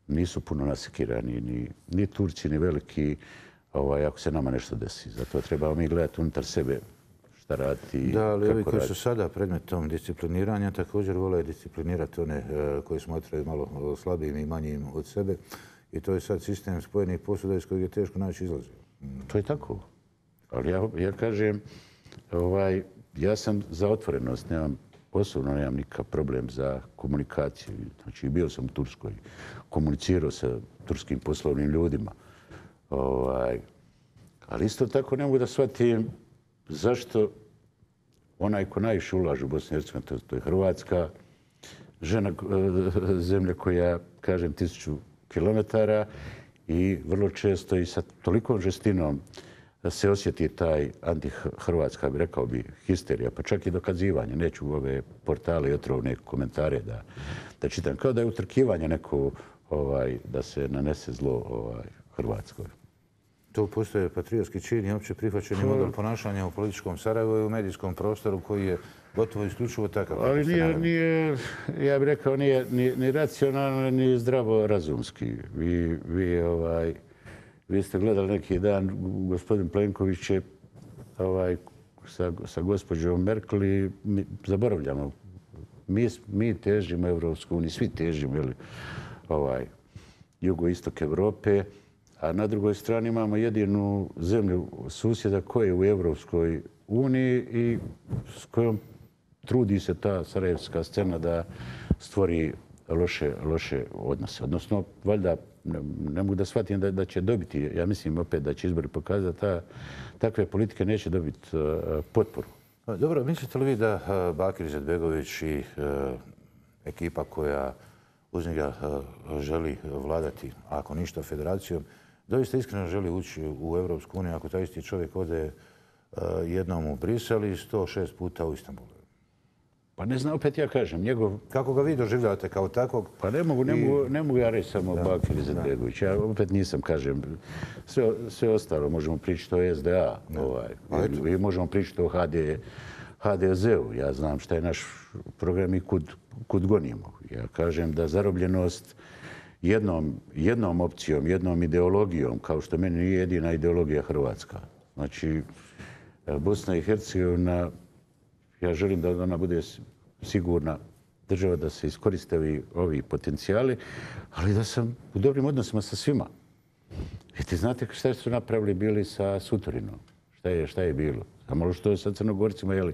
nisu puno nasekirani ni, ni Turci, ni veliki, ovaj, ako se nama nešto desi. Zato trebamo mi gledati unutar sebe šta raditi i Da, ali ovi kako koji su raditi. sada predmetom discipliniranja također vole disciplinirati one e, koji smatraju malo slabijim i manjim od sebe. I to je sad sistem spojenih posuda iz kojeg je teško naći izlazi. To je tako. Ali ja, ja kažem, ovaj, ja sam za otvorenost, nemam, osobno nemam nikakav problem za komunikaciju. Znači, bio sam u Turskoj, komunicirao sa turskim poslovnim ljudima. Ovaj, ali isto tako ne mogu da shvatim zašto onaj ko najviše ulaže u Bosni i Hercegovini, to, to je Hrvatska, žena, eh, zemlja koja, kažem, tisuću kilometara i vrlo često i sa tolikom žestinom se osjeti taj anti-hrvatska, bi rekao bi, histerija, pa čak i dokazivanje. Neću u ove portale i otrovne komentare da, da čitam. Kao da je utrkivanje neko ovaj, da se nanese zlo ovaj, Hrvatskoj. Tu postoje patriotski čin i opće prihvaćeni model ponašanja u političkom Sarajevu i u medijskom prostoru koji je gotovo isključivo takav. kako Ali ste nije, naveli. nije, ja bih rekao, nije ni, ni racionalno, ni zdravo razumski. Vi, vi, ovaj, Vi ste gledali neki dan, gospodin Plenković je ovaj, sa, sa gospođom Merkel i mi zaboravljamo. Mi, mi težimo Evropsku uniju, svi težimo jeli, ovaj, jugoistok Evrope, a na drugoj strani imamo jedinu zemlju susjeda koja je u Evropskoj uniji i s kojom trudi se ta sarajevska scena da stvori loše, loše odnose. Odnosno, valjda, ne, ne mogu da shvatim da, da će dobiti, ja mislim opet da će izbori pokazati da takve politike neće dobiti uh, potporu. Dobro, mislite li vi da uh, Bakir Izetbegović i uh, ekipa koja uz njega uh, želi vladati, ako ništa, federacijom, doista iskreno želi ući u Evropsku uniju ako taj isti čovjek ode uh, jednom u Brisel i sto šest puta u Istanbulu? Pa ne znam, opet ja kažem, njegov... Kako ga vi doživljavate kao takvog? Pa ne mogu, ne I... mogu, ne mogu ja reći samo Bakir Izetbegović. Ja opet nisam, kažem, sve, sve ostalo možemo pričati o S D A, ovaj, i možemo pričati o H D Z-u. Ja znam šta je naš program i kud, kud gonimo. Ja kažem da zarobljenost jednom, jednom opcijom, jednom ideologijom, kao što meni nije jedina ideologija Hrvatska. Znači, Bosna i Hercegovina, ja želim da ona bude sigurna država, da se iskoriste ovi potencijali, ali da sam u dobrim odnosima sa svima. I ti znate šta su napravili bili sa Sutorinom? Šta je, šta je bilo? Samo što je sa Crnogorcima, jeli,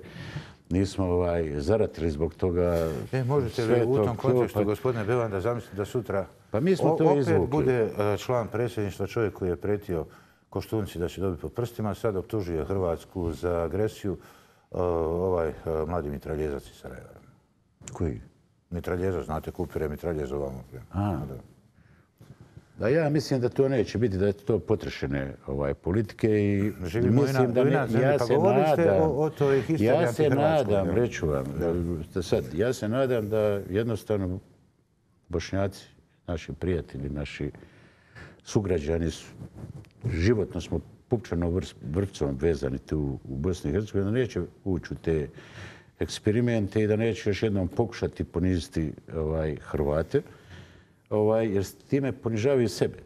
nismo ovaj, zaratili zbog toga. E, možete li u tom kontekstu, pa... gospodine Bevan, da zamislite da sutra pa mi smo to opet izvukli. bude član predsjedništva čovjek koji je pretio Koštunci da će dobiti po prstima, sad optužuje Hrvatsku za agresiju, ovaj mladi mitraljezac iz Sarajeva. Koji? Mitraljezac, znate, kupire mitraljeza ovamo. A, da, ja mislim da to neće biti, da je to potrešene ovaj, politike i živimo mislim da ne, ja pa se nadam, o, o toj ja se nadam, ja. reću vam, da sad, ja se nadam da jednostavno Bošnjaci, naši prijatelji, naši sugrađani, životno smo pupčanom vrpcom vezani tu u Bosni i Hercegovini, da neće ući u te eksperimente i da neće još jednom pokušati poniziti ovaj, Hrvate, ovaj, jer s time ponižavaju sebe.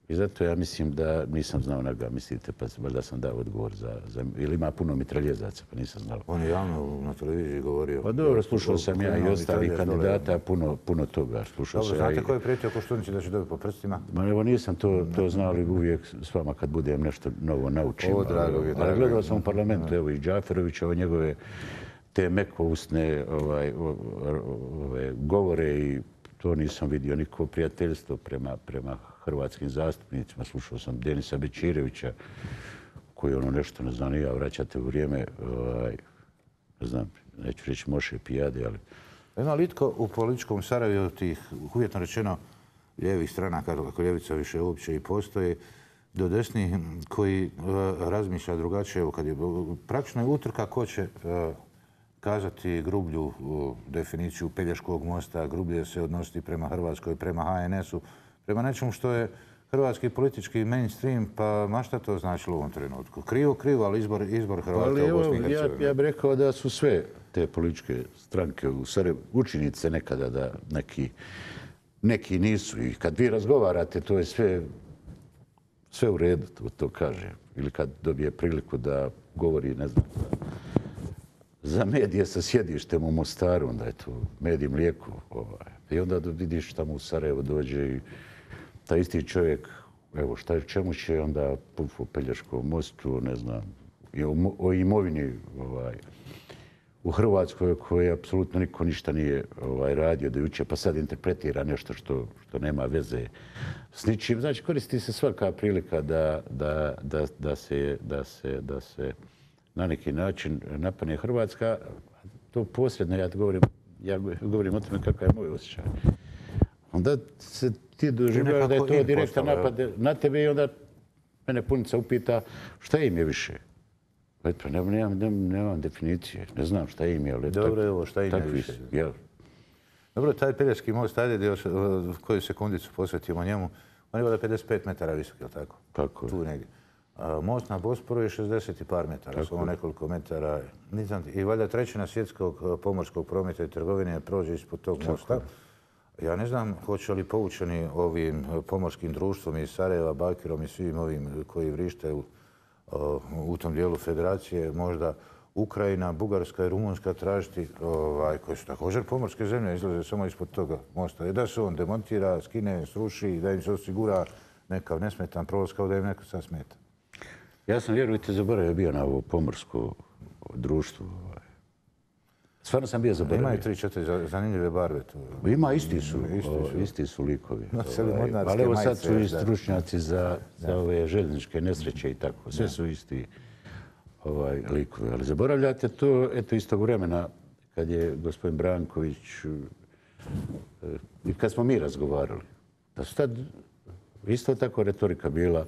I zato ja mislim da nisam znao na ga mislite, pa valjda sam dao odgovor za, za... Ili ima puno mitraljezaca, pa nisam znao. On je javno na televiziji govorio. Pa dobro, slušao sam ja i ostalih kandidata, puno, puno toga. Slušao dobro, znate ja i... ko je prijetio Koštunici da će dobiti po prstima? Ma evo nisam to, to znao, ali uvijek s vama kad budem nešto novo naučim. O, drago je, drago. Ali gledao sam u parlamentu, evo i Džaferovića, ove njegove te mekousne ovaj, ove, govore i to nisam vidio nikako prijateljstvo prema, prema hrvatskim zastupnicima. Slušao sam Denisa Bećirevića, koji ono nešto, ne znam, ni ja, vraćate u vrijeme, ovaj, ne znam, neću reći Moše Pijade, ali... Ima li itko u političkom Sarajevu tih, uvjetno rečeno, lijevih stranaka, kako ljevica više uopće i postoji, do desnih, koji uh, razmišlja drugačije, evo kad je praktično je utrka ko će uh, kazati grublju uh, definiciju Pelješkog mosta, grublje se odnositi prema Hrvatskoj, prema H N S-u, prema nečemu što je hrvatski politički mainstream, pa ma šta to značilo u ovom trenutku? Krivo, krivo, ali izbor, izbor Hrvata ali u Bosni i Hercegovini. Ja, ja bih rekao da su sve te političke stranke u Sarajevu učinice nekada da neki, neki nisu. I kad vi razgovarate, to je sve, sve u redu, to, to kaže. Ili kad dobije priliku da govori, ne znam, za medije sa sjedištem u Mostaru, onda je to medij mlijeko. Ovaj. I onda vidiš tamo u Sarajevo dođe i taj isti čovjek, evo šta, čemu će onda puf o Pelješkom mostu, ne znam, i o, o imovini ovaj, u Hrvatskoj koje apsolutno niko ništa nije ovaj, radio do jučer, pa sad interpretira nešto što, što nema veze s ničim. Znači, koristi se svaka prilika da, da, da, da, se, da, se, da se na neki način napadne Hrvatska. To posredno, ja govorim, ja govorim o tome kakav je moj osjećaj. Onda se ti doživljaju da je to direktan napad na tebe i onda mene punica upita šta im je više. Pa nemam, nemam, nemam definicije, ne znam šta im je, ali dobro, tak, evo, šta im je više. Ja. Dobro, taj Pelješki most, ajde još koju sekundicu posvetimo njemu, on je voda pedeset pet metara visok, je li tako? Tako. Tu negdje. Most na Bosporu je šezdeset i par metara, samo nekoliko metara. I valjda trećina svjetskog pomorskog prometa i trgovine prođe ispod tog mosta. Ja ne znam hoće li poučeni ovim pomorskim društvom iz Sarajeva, Bakirom i svim ovim koji vrište u, u tom dijelu federacije, možda Ukrajina, Bugarska i Rumunjska tražiti, ovaj, koji su također pomorske zemlje, izlaze samo ispod toga mosta. Da se on demontira, skine, sruši, da im se osigura nekav nesmetan prolaz kao da im neko sad smeta. Ja sam, vjerujte, zaboravio bio na ovo pomorsko društvo. Stvarno sam bio zaboravio. Imaju tri, četiri zanimljive barve tu. Ima, isti su, isti su likovi. Ali evo sad su i stručnjaci za ove željezničke nesreće i tako. Sve su isti likovi. Ali zaboravljate to, eto, istog vremena kad je gospodin Branković i kad smo mi razgovarali. Da su tad isto tako retorika bila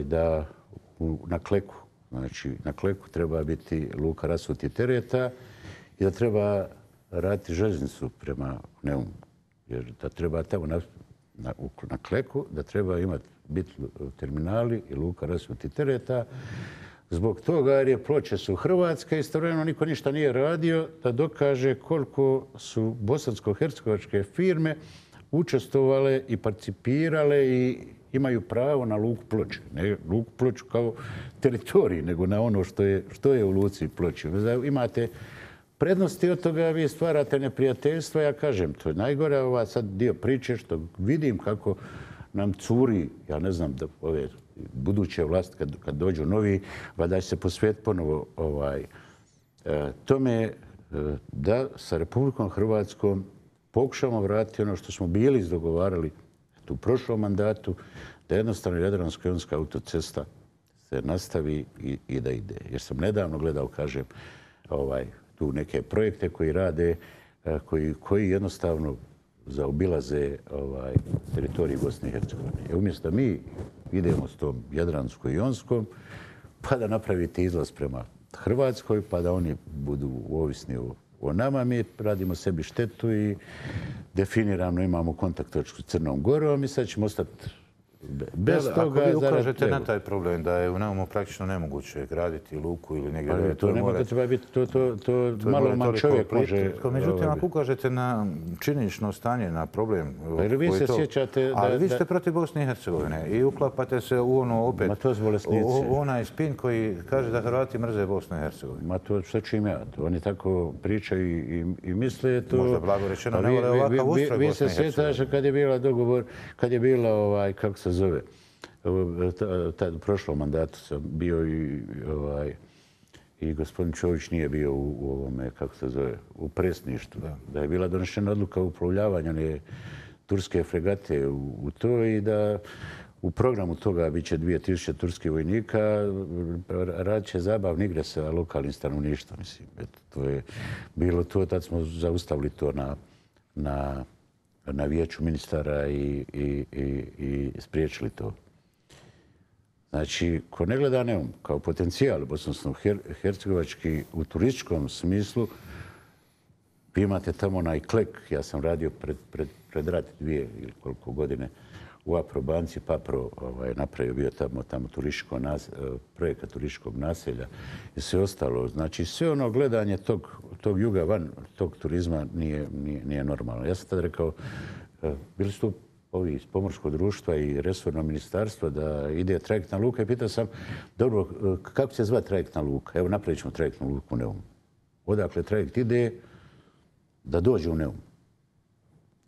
da na Kleku, znači na Kleku treba biti luka rasutih tereta i da treba raditi željeznicu prema Neumu. Jer da treba tamo na, na, na Kleku, da treba imati biti terminali i luka rasutih tereta. Zbog toga jer je Ploče su Hrvatske, istovremeno niko ništa nije radio da dokaže koliko su bosansko-hercegovačke firme učestvovale i participirale i imaju pravo na luku Ploče. Ne luku Ploču kao teritorij, nego na ono što je, što je u luci Ploče. Imate prednosti od toga, vi stvarate neprijateljstva. Ja kažem, to je najgore ova sad dio priče što vidim kako nam curi, ja ne znam, da ove buduće vlasti kad, kad dođu novi, da će se posvijeti ponovo ovaj, e, tome e, da sa Republikom Hrvatskom pokušamo vratiti ono što smo bili izdogovarali u prošlom mandatu, da jednostavno Jadransko-jonska autocesta se nastavi i, i da ide. Jer sam nedavno gledao, kažem, ovaj, tu neke projekte koji rade, koji, koji jednostavno zaobilaze ovaj, teritorij Bosne i Hercegovine. I umjesto da mi idemo s tom Jadransko-jonskom, pa da napravite izlaz prema Hrvatskoj, pa da oni budu ovisni o, o nama, mi radimo sebi štetu i definirano imamo kontakt točku s Crnom Gorom i sad ćemo ostati bez da, toga. Ako vi ukažete na taj problem da je u Neumu praktično nemoguće graditi luku ili negdje... Ali to nema da treba biti, to, to, to, to malo man čovjek može... Međutim, ako ukažete na činjenično stanje, na problem... Ali vi se sjećate da... Ali vi ste protiv Bosne i Hercegovine i uklapate se u ono opet... Ma to su bolesnici. U onaj spin koji kaže da Hrvati mrze Bosnu i Hercegovinu. Ma to što ću im ja. Oni tako pričaju i, i misle to... Možda blago rečeno, ne vole ovakav ustroj Bosne i Hercegovine. Vi se sjećate kad je bila dogovor, kad je bila ovaj, kako se zove, tad u prošlom mandatu sam bio i ovaj, i gospodin Čović nije bio u, u ovome, kako se zove, u presništvu. Da, da je bila donešena odluka o uplovljavanju one turske fregate u, u to i da u programu toga bit će dvije tisuće turskih vojnika, radit će zabavne igre sa lokalnim stanovništvom. Mislim, eto, to je bilo to, tad smo zaustavili to na, na, na vijeću ministara i, i, i, i spriječili to. Znači, ko ne gleda Neum kao potencijal bosansko-hercegovački u turističkom smislu, vi imate tamo onaj Klek. Ja sam radio pred, pred, pred rat dvije ili koliko godine u Aprobanci, Papro ovaj, napravio bio tamo, tamo turističko nas, projekat turističkog naselja i sve ostalo. Znači, sve ono gledanje tog, tog juga van, tog turizma nije, nije, nije normalno. Ja sam tad rekao, bili su tu ovi iz pomorskog društva i resorno ministarstvo da ide trajektna luka i pitao sam, dobro, kako će se zvati trajektna luka? Evo, napravit ćemo trajektnu luku u Neumu. Odakle trajekt ide da dođe u Neum?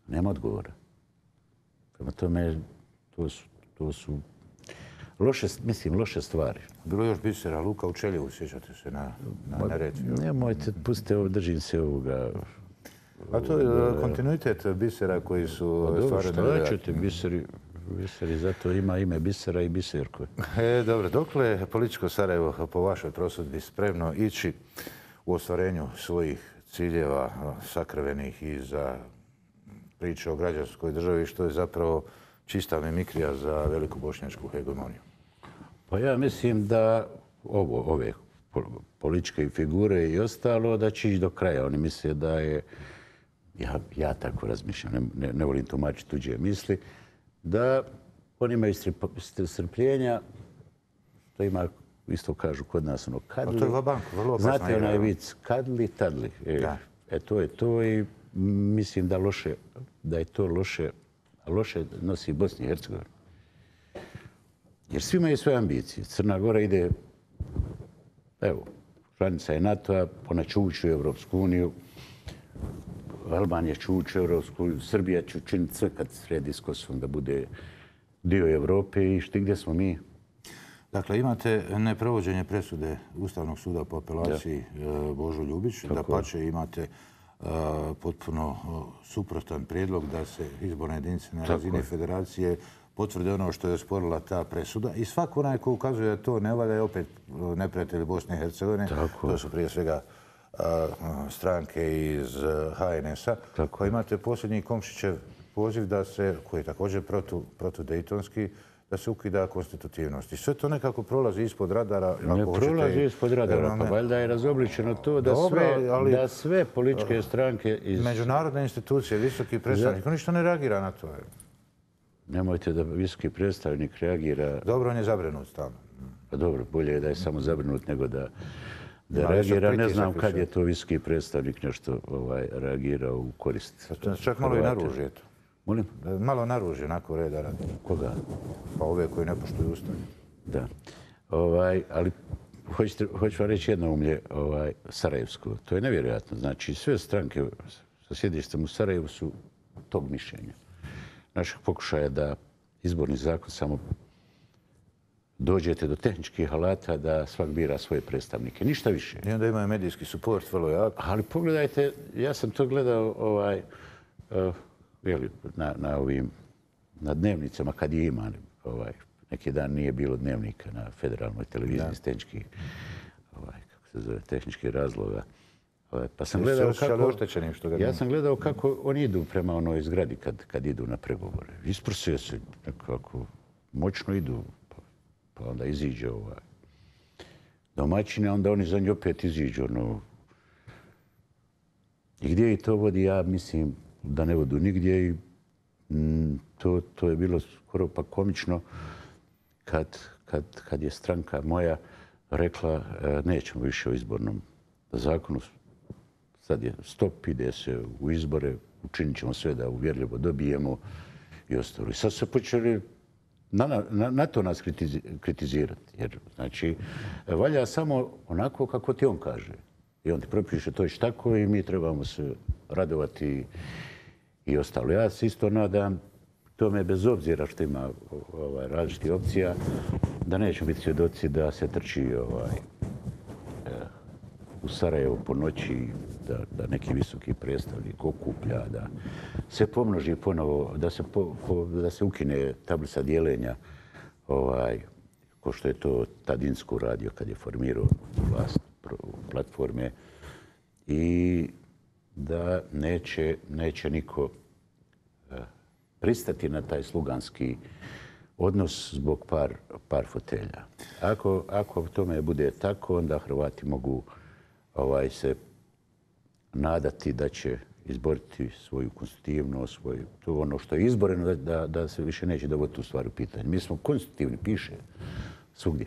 Nema odgovora. Prema tome, to su, to su loše, mislim, loše stvari. Bilo je još bisera luka u Čeljevu, sjećate se, na, na Neretvi. Nemojte, pustite ovo, držim se ovoga. A to je kontinuitet bisera koji su stvarno... Dobro, šta ćete, biseri, biseri, zato ima ime bisera i biserko. E, dobro, dokle je političko Sarajevo po vašoj prosudbi spremno ići u ostvarenju svojih ciljeva sakrivenih i za priče o građanskoj državi, što je zapravo čista mimikrija za veliku bošnjačku hegemoniju? Pa ja mislim da ovo, ove političke figure i ostalo, da će ići do kraja. Oni misle da je, ja, ja tako razmišljam, ne, ne, ne volim tumačiti tuđe misli, da oni imaju strpljenja, što ima, isto kažu kod nas, ono, kadli. A to je vabanko, vrlo opasno. Znate onaj vic, kadli, tadli. E, e, to je to i mislim da loše, da je to loše, loše nosi Bosni i Hercegovini. Jer svi imaju svoje ambicije. Crna Gora ide, evo, članica je NATO-a, ona će ući u Europsku uniju, Albanija će ući u Europsku uniju, Srbija će učiniti sve kad sredi s Kosovom da bude dio Europe i šti gdje smo mi. Dakle, imate neprovođenje presude Ustavnog suda po apelaciji Božo Ljubić. Dapače, imate potpuno suprotan prijedlog da se izborne jedinice na razini federacije potvrde ono što je osporila ta presuda. I svako onaj ko ukazuje da to ne valja je opet neprijatelji Bosne i Hercegovine. To su prije svega stranke iz ha en es-a. Koji imate posljednji Komšićev poziv da se, koji je također protudejtonski, da se ukida konstitutivnost. I sve to nekako prolazi ispod radara. Ne prolazi ispod radara, pa valjda je razobličeno to da sve političke stranke iz... Međunarodne institucije, visoki predstavnik, on ništa ne reagira na to. Nemojte da visoki predstavnik reagira... Dobro, on je zabrinut stalno. Pa dobro, bolje je da je samo zabrinut nego da reagira. Ne znam kad je to visoki predstavnik nešto reagirao u korist. Čak malo i naružje to. Molim? Malo naružje, onako reda radi. Koga? Pa ove koji ne poštuju Ustav. Da. Ali hoću vam reći jednoumlje Sarajevsko. To je nevjerojatno. Znači, sve stranke sa sjedištem u Sarajevu su tog mišljenja. Našeg pokušaja da izborni zakon samo dođete do tehničkih alata da svak bira svoje predstavnike. Ništa više. I onda imaju medijski suport, vrlo jak. Ali pogledajte, ja sam to gledao na ovim, na dnevnicama kad je ima. Neki dan nije bilo dnevnika na federalnoj televiziji iz tehničkih, kako se zove, tehničkih razloga. Pa sam gledao kako, ja sam gledao kako oni idu prema onoj zgradi kad, kad idu na pregovore. Isprosio se nekako, moćno idu, pa, pa onda iziđe ovaj domaćine, onda oni za nju opet iziđu. Ono. I gdje i to vodi, ja mislim da ne vodu nigdje i mm, to, to je bilo skoro pa komično kad, kad, kad je stranka moja rekla e, nećemo više o izbornom zakonu. Sad je stop, ide se u izbore, učinit ćemo sve da uvjerljivo dobijemo i ostalo. I sad se počeli na, na, na to nas kritizirati. Jer, znači, valja samo onako kako ti on kaže. I on ti propiše to je tako i mi trebamo se radovati i ostalo. Ja se isto nadam, tome bez obzira što ima ovaj, različitih opcija, da nećemo biti svjedoci da se trči ovaj, u Sarajevu po noći, da, da neki visoki predstavnik okuplja, da se pomnoži ponovo, da se, po, po, da se ukine tablica dijeljenja, ovaj, ko što je to Tadinsko radio kad je formirao vlast platforme i da neće, neće niko pristati na taj sluganski odnos zbog par, par fotelja. Ako, ako tome bude tako, onda Hrvati mogu ovaj, se nadati da će izboriti svoju konstitutivnost, svoj, to ono što je izboreno, da, da, da se više neće dovoditi u stvari u pitanje. Mi smo konstitutivni, piše svugdje.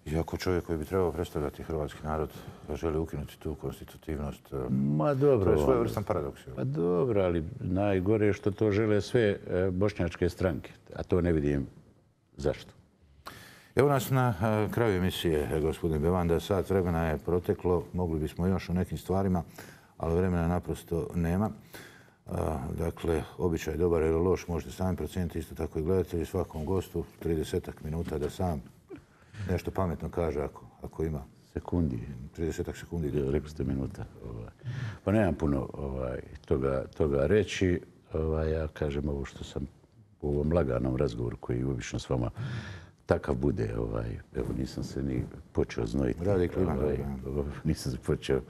Iako čovjek koji bi trebao predstavljati hrvatski narod želi ukinuti tu konstitutivnost, Ma dobro, to je svojevrstan paradoks. Pa dobro, ali najgore je što to žele sve bošnjačke stranke, a to ne vidim zašto. Evo nas na kraju emisije, gospodine Bevanda. Sat vremena je proteklo, mogli bismo još o nekim stvarima, ali vremena naprosto nema. Dakle, običaj dobar ili loš možete sami procijeniti, isto tako i gledatelji, svakom gostu tridesetak minuta da sam nešto pametno kaže ako, ako ima. Sekundi. tridesetak sekundi. Rekli ste minuta. Ovaj. Pa nemam puno ovaj, toga, toga reći. Ovaj, ja kažem ovo što sam u ovom laganom razgovoru koji obično s vama takav bude. Ovaj, evo, nisam se ni počeo znojiti. Radi klima. Ovaj, nisam se počeo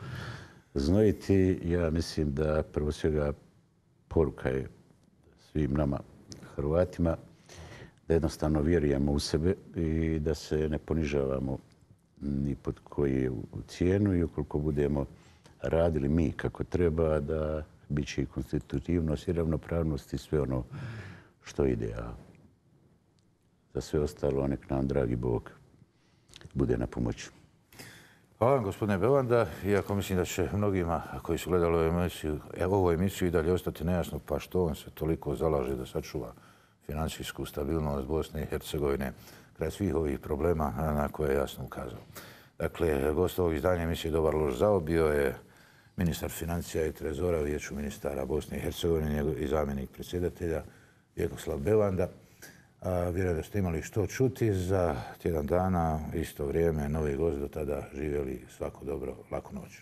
znojiti. Ja mislim da prvo svega poruka je svim nama Hrvatima da jednostavno vjerujemo u sebe i da se ne ponižavamo ni pod koju cijenu i ukoliko budemo radili mi kako treba, da bit će i konstitutivnost i ravnopravnost i sve ono što ide. A za sve ostalo nek nam, dragi Bog, bude na pomoći. Hvala vam, gospodine Belanda. Iako mislim da će mnogima koji su gledali ovu emisiju, ovu emisiju i dalje ostati nejasno pa što on se toliko zalaže da sačuva financijsku stabilnost Bosne i Hercegovine kraj svih ovih problema na koje je jasno ukazao. Dakle, gost ovog izdanja emisije Dobar loš zao bio je ministar financija i trezora u Vijeću ministara Bosne i Hercegovine i zamjenik predsjedatelja Vjekoslav Belanda. Vjerujem da ste imali što čuti. Za tjedan dana, isto vrijeme, novi gost. Do tada živjeli svako dobro, laku noć.